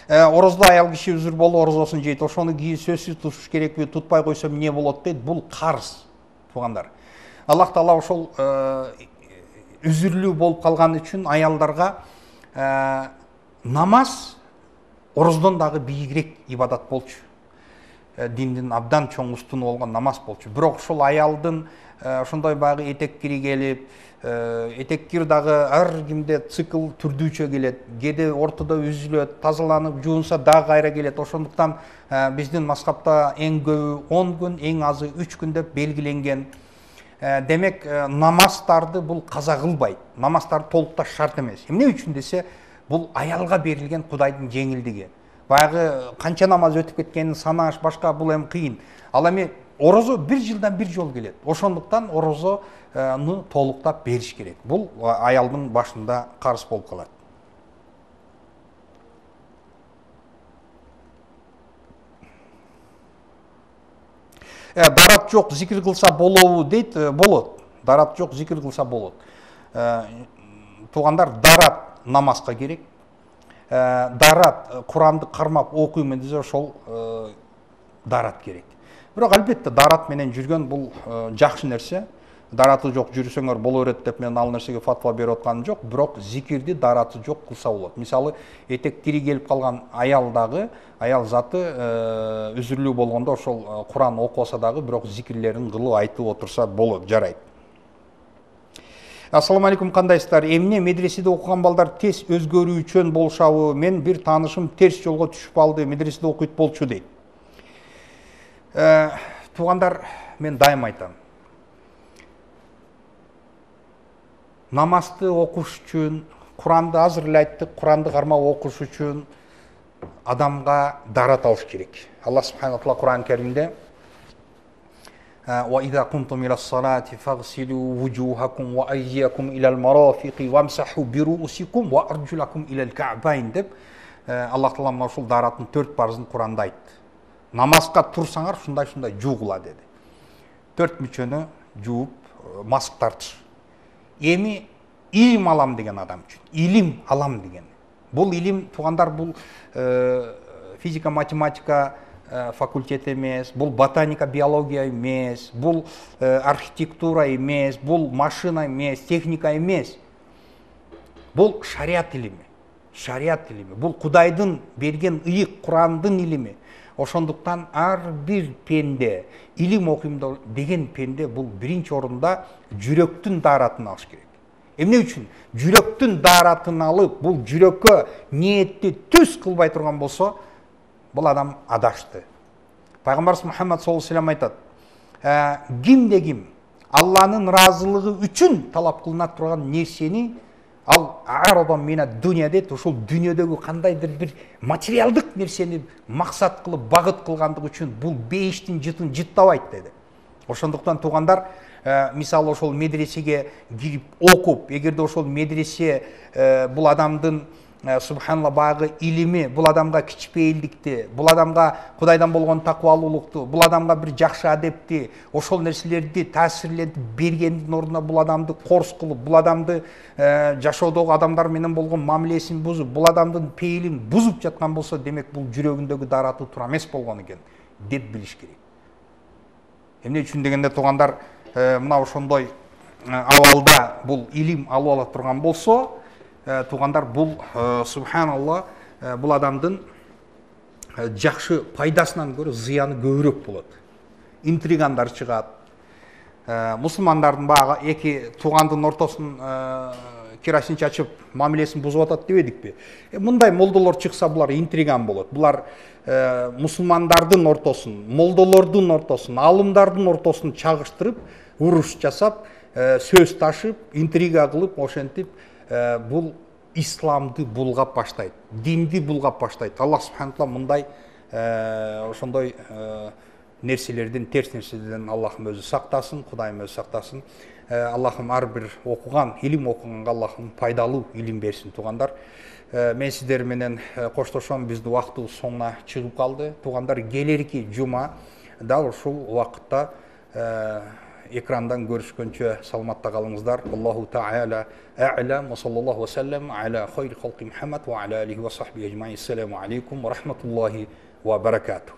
Орозду аял киши үзүр болуп орозосун жейт, ошону кийин сөзсүз тутуш керекпи, тутпай койсом эмне болот дейт, бул карыз, туугандар. Аллах Таала ошол үзүрлүү болуп калган үчүн аялдарга намаз ороздон дагы бийигирээк ибадат болчу. Диндин абдан чоң устуну болгон намаз болчу. Бирок ошол аялдын ошондой баягы этеккири келип, этеккир дагы ар кимде цикл түрдүүчө келет, кээде ортодо үзүлөт, тазаланып жуунса дагы кайра келет. Ошондуктан биздин мазхабта эң көбү он күн, эң азы үч күн деп белгиленген. Демек, намаздарды бул каза кылбайт. Намаздар толукташ шарт эмес. Эмне үчүн десе, бул аялга берилген Кудайдын жеңилдиги. Баягы канча намаз өтүп кеткенин санаш, башка бул эми кыйын. Ал эми орозо бир жылдан бир жол келет. Ошондуктан орозону толуктап бериш керек. Бул аялдын башында карыз болуп калат. Дарат жок, зикир кылса болобу дейт, болот. Дарат жок, зикир кылса болот. Туугандар, дарат намазга керек. Дарат Куранды кармап окуймун десе, ошол дарат керек. Бирок албетте дарат менен жүргөн бул жакшы нерсе. Дараты жок жүрсөңөр боло берет деп мен ал нерсеге фатва берип атканым жок, бирок зикирди дараты жок кылса болот. Мисалы, этек тири келип калган аял дагы, аял заты үзүрлүү болгондо ошол Куран окубаса дагы, бирок зикирлерин кылып айтып отурса болот, жарайт. Ассаламу алейкум, кандайсыздар? Эмне медреседе окуган балдар тез өзгөрүүчөн болушабы? Мен бир таанышым терс жолго түшүп алды, медреседе окуйт болчу дейт. Туугандар, мен дайым айтам. Намазды окуш үчүн, Куранды азыр эле айттык, Куранды кармап окуш үчүн адамга дарат алыш керек. Аллах субхана ва таала Куран Керимде وَإِذَا قُمْتُمْ إِلَى الصَّلَاةِ فَاغْسِلُوا وُجُوهَكُمْ وَأَيْدِيَكُمْ إِلَى الْمَرَافِقِ وَامْسَحُوا بِرُؤُسِكُمْ وَأَرْجُلَكُمْ إِلَى الْكَعْبَيْنِ деп Аллах Таала мына ушул дараттын төрт парызын Куранда айтты. Намазга турсаңар ушундай-ушундай жуугула деди. Төрт мүчөнү жууп, маск тартыш. Эми илим алам деген адам үчүн, илим алам деген. Бул илим, туугандар, бул физика, математика факультет эмес, бул ботаника, биология эмес, бул архитектура эмес, бул машина эмес, техника эмес. Бул шариат илими. Шариат илими. Бул Кудайдын берген ыйык Курандын илими. Ошондуктан ар бир пенде, илим окуйм деген пенде бул биринчи орунда жүрөктүн даратын алыш керек. Эмне үчүн? Жүрөктүн даратын алып, бул жүрөккө ниетти түз кылбай турган болсо, бул адам адашты. Пайгамбарыбыз Мухаммад саллаллаху алейхи ва саллям айтат: кимде ким Алланын ыраазылыгы үчүн талап кылына турган нерсени ал арадон мина дүния дейт, ошол дүйнөдөгү кандайдыр бир материалдык нерсени максат кылып, багыт кылгандык үчүн бул бейиштин жытын жыттабайт деди. Ошондуктан туугандар, мисалы ошол медресеге кирип окуп, эгерде ошол медресе бул адамдын субханалла баягы илими, бул адамга кичпейилдикти, бул адамга Кудайдан болгон такыбалуулукту, бул адамга бир жакшы адепти, ошол нерселерди таасирлентип бергендин ордуна бул адамды корс кылып, бул адамды жашоодогу адамдар менен болгон мамилесин бузуп, бул адамдын пейилин бузуп жаткан болсо, демек бул жүрөгүндөгү даратуу туура эмес болгон экен деп билиш керек. Эмне үчүн дегенде, туугандар, мына ошондой абалда бул илим алып ала турган болсо, туугандар, бул субханалла бул адамдын жакшы пайдасынан көрө зыяны көбүрөөк болот. Интригандар чыгат. Мусулмандардын баягы эки туугандын ортосун керосин чачып мамилесин бузуп атат дебедикпи? Мындай молдолор чыкса, булар интриган болот. Булар мусулмандардын ортосун, молдолордун ортосун, алымдардын ортосун чагыштырып, уруш жасап, сөз ташып, интрига кылып, ошентип бул исламды булгап баштайт, динди булгап баштайт. Аллах субханала мындай ошондой нерселерден, терс нерселерден Аллахым өзү сактасын, Кудайым өзү сактасын. Аллахым ар бир окуган, илим окуганга Аллахым пайдалуу илим берсин, туугандар. Мен сиздер менен коштошом, биздин убактыбыз соңуна чыгып калды. Туугандар, келерки жума дал ушул убакытта экрандан көрүшкөнчө саламатта калыңыздар. Аллаху таала а'лам ва саллаллаху ва саллам аля хайри халqi Muhammad ва аля алихи ва сахбихи ажмаин. Ассаламу алейкум ва рахматуллахи ва баракатух.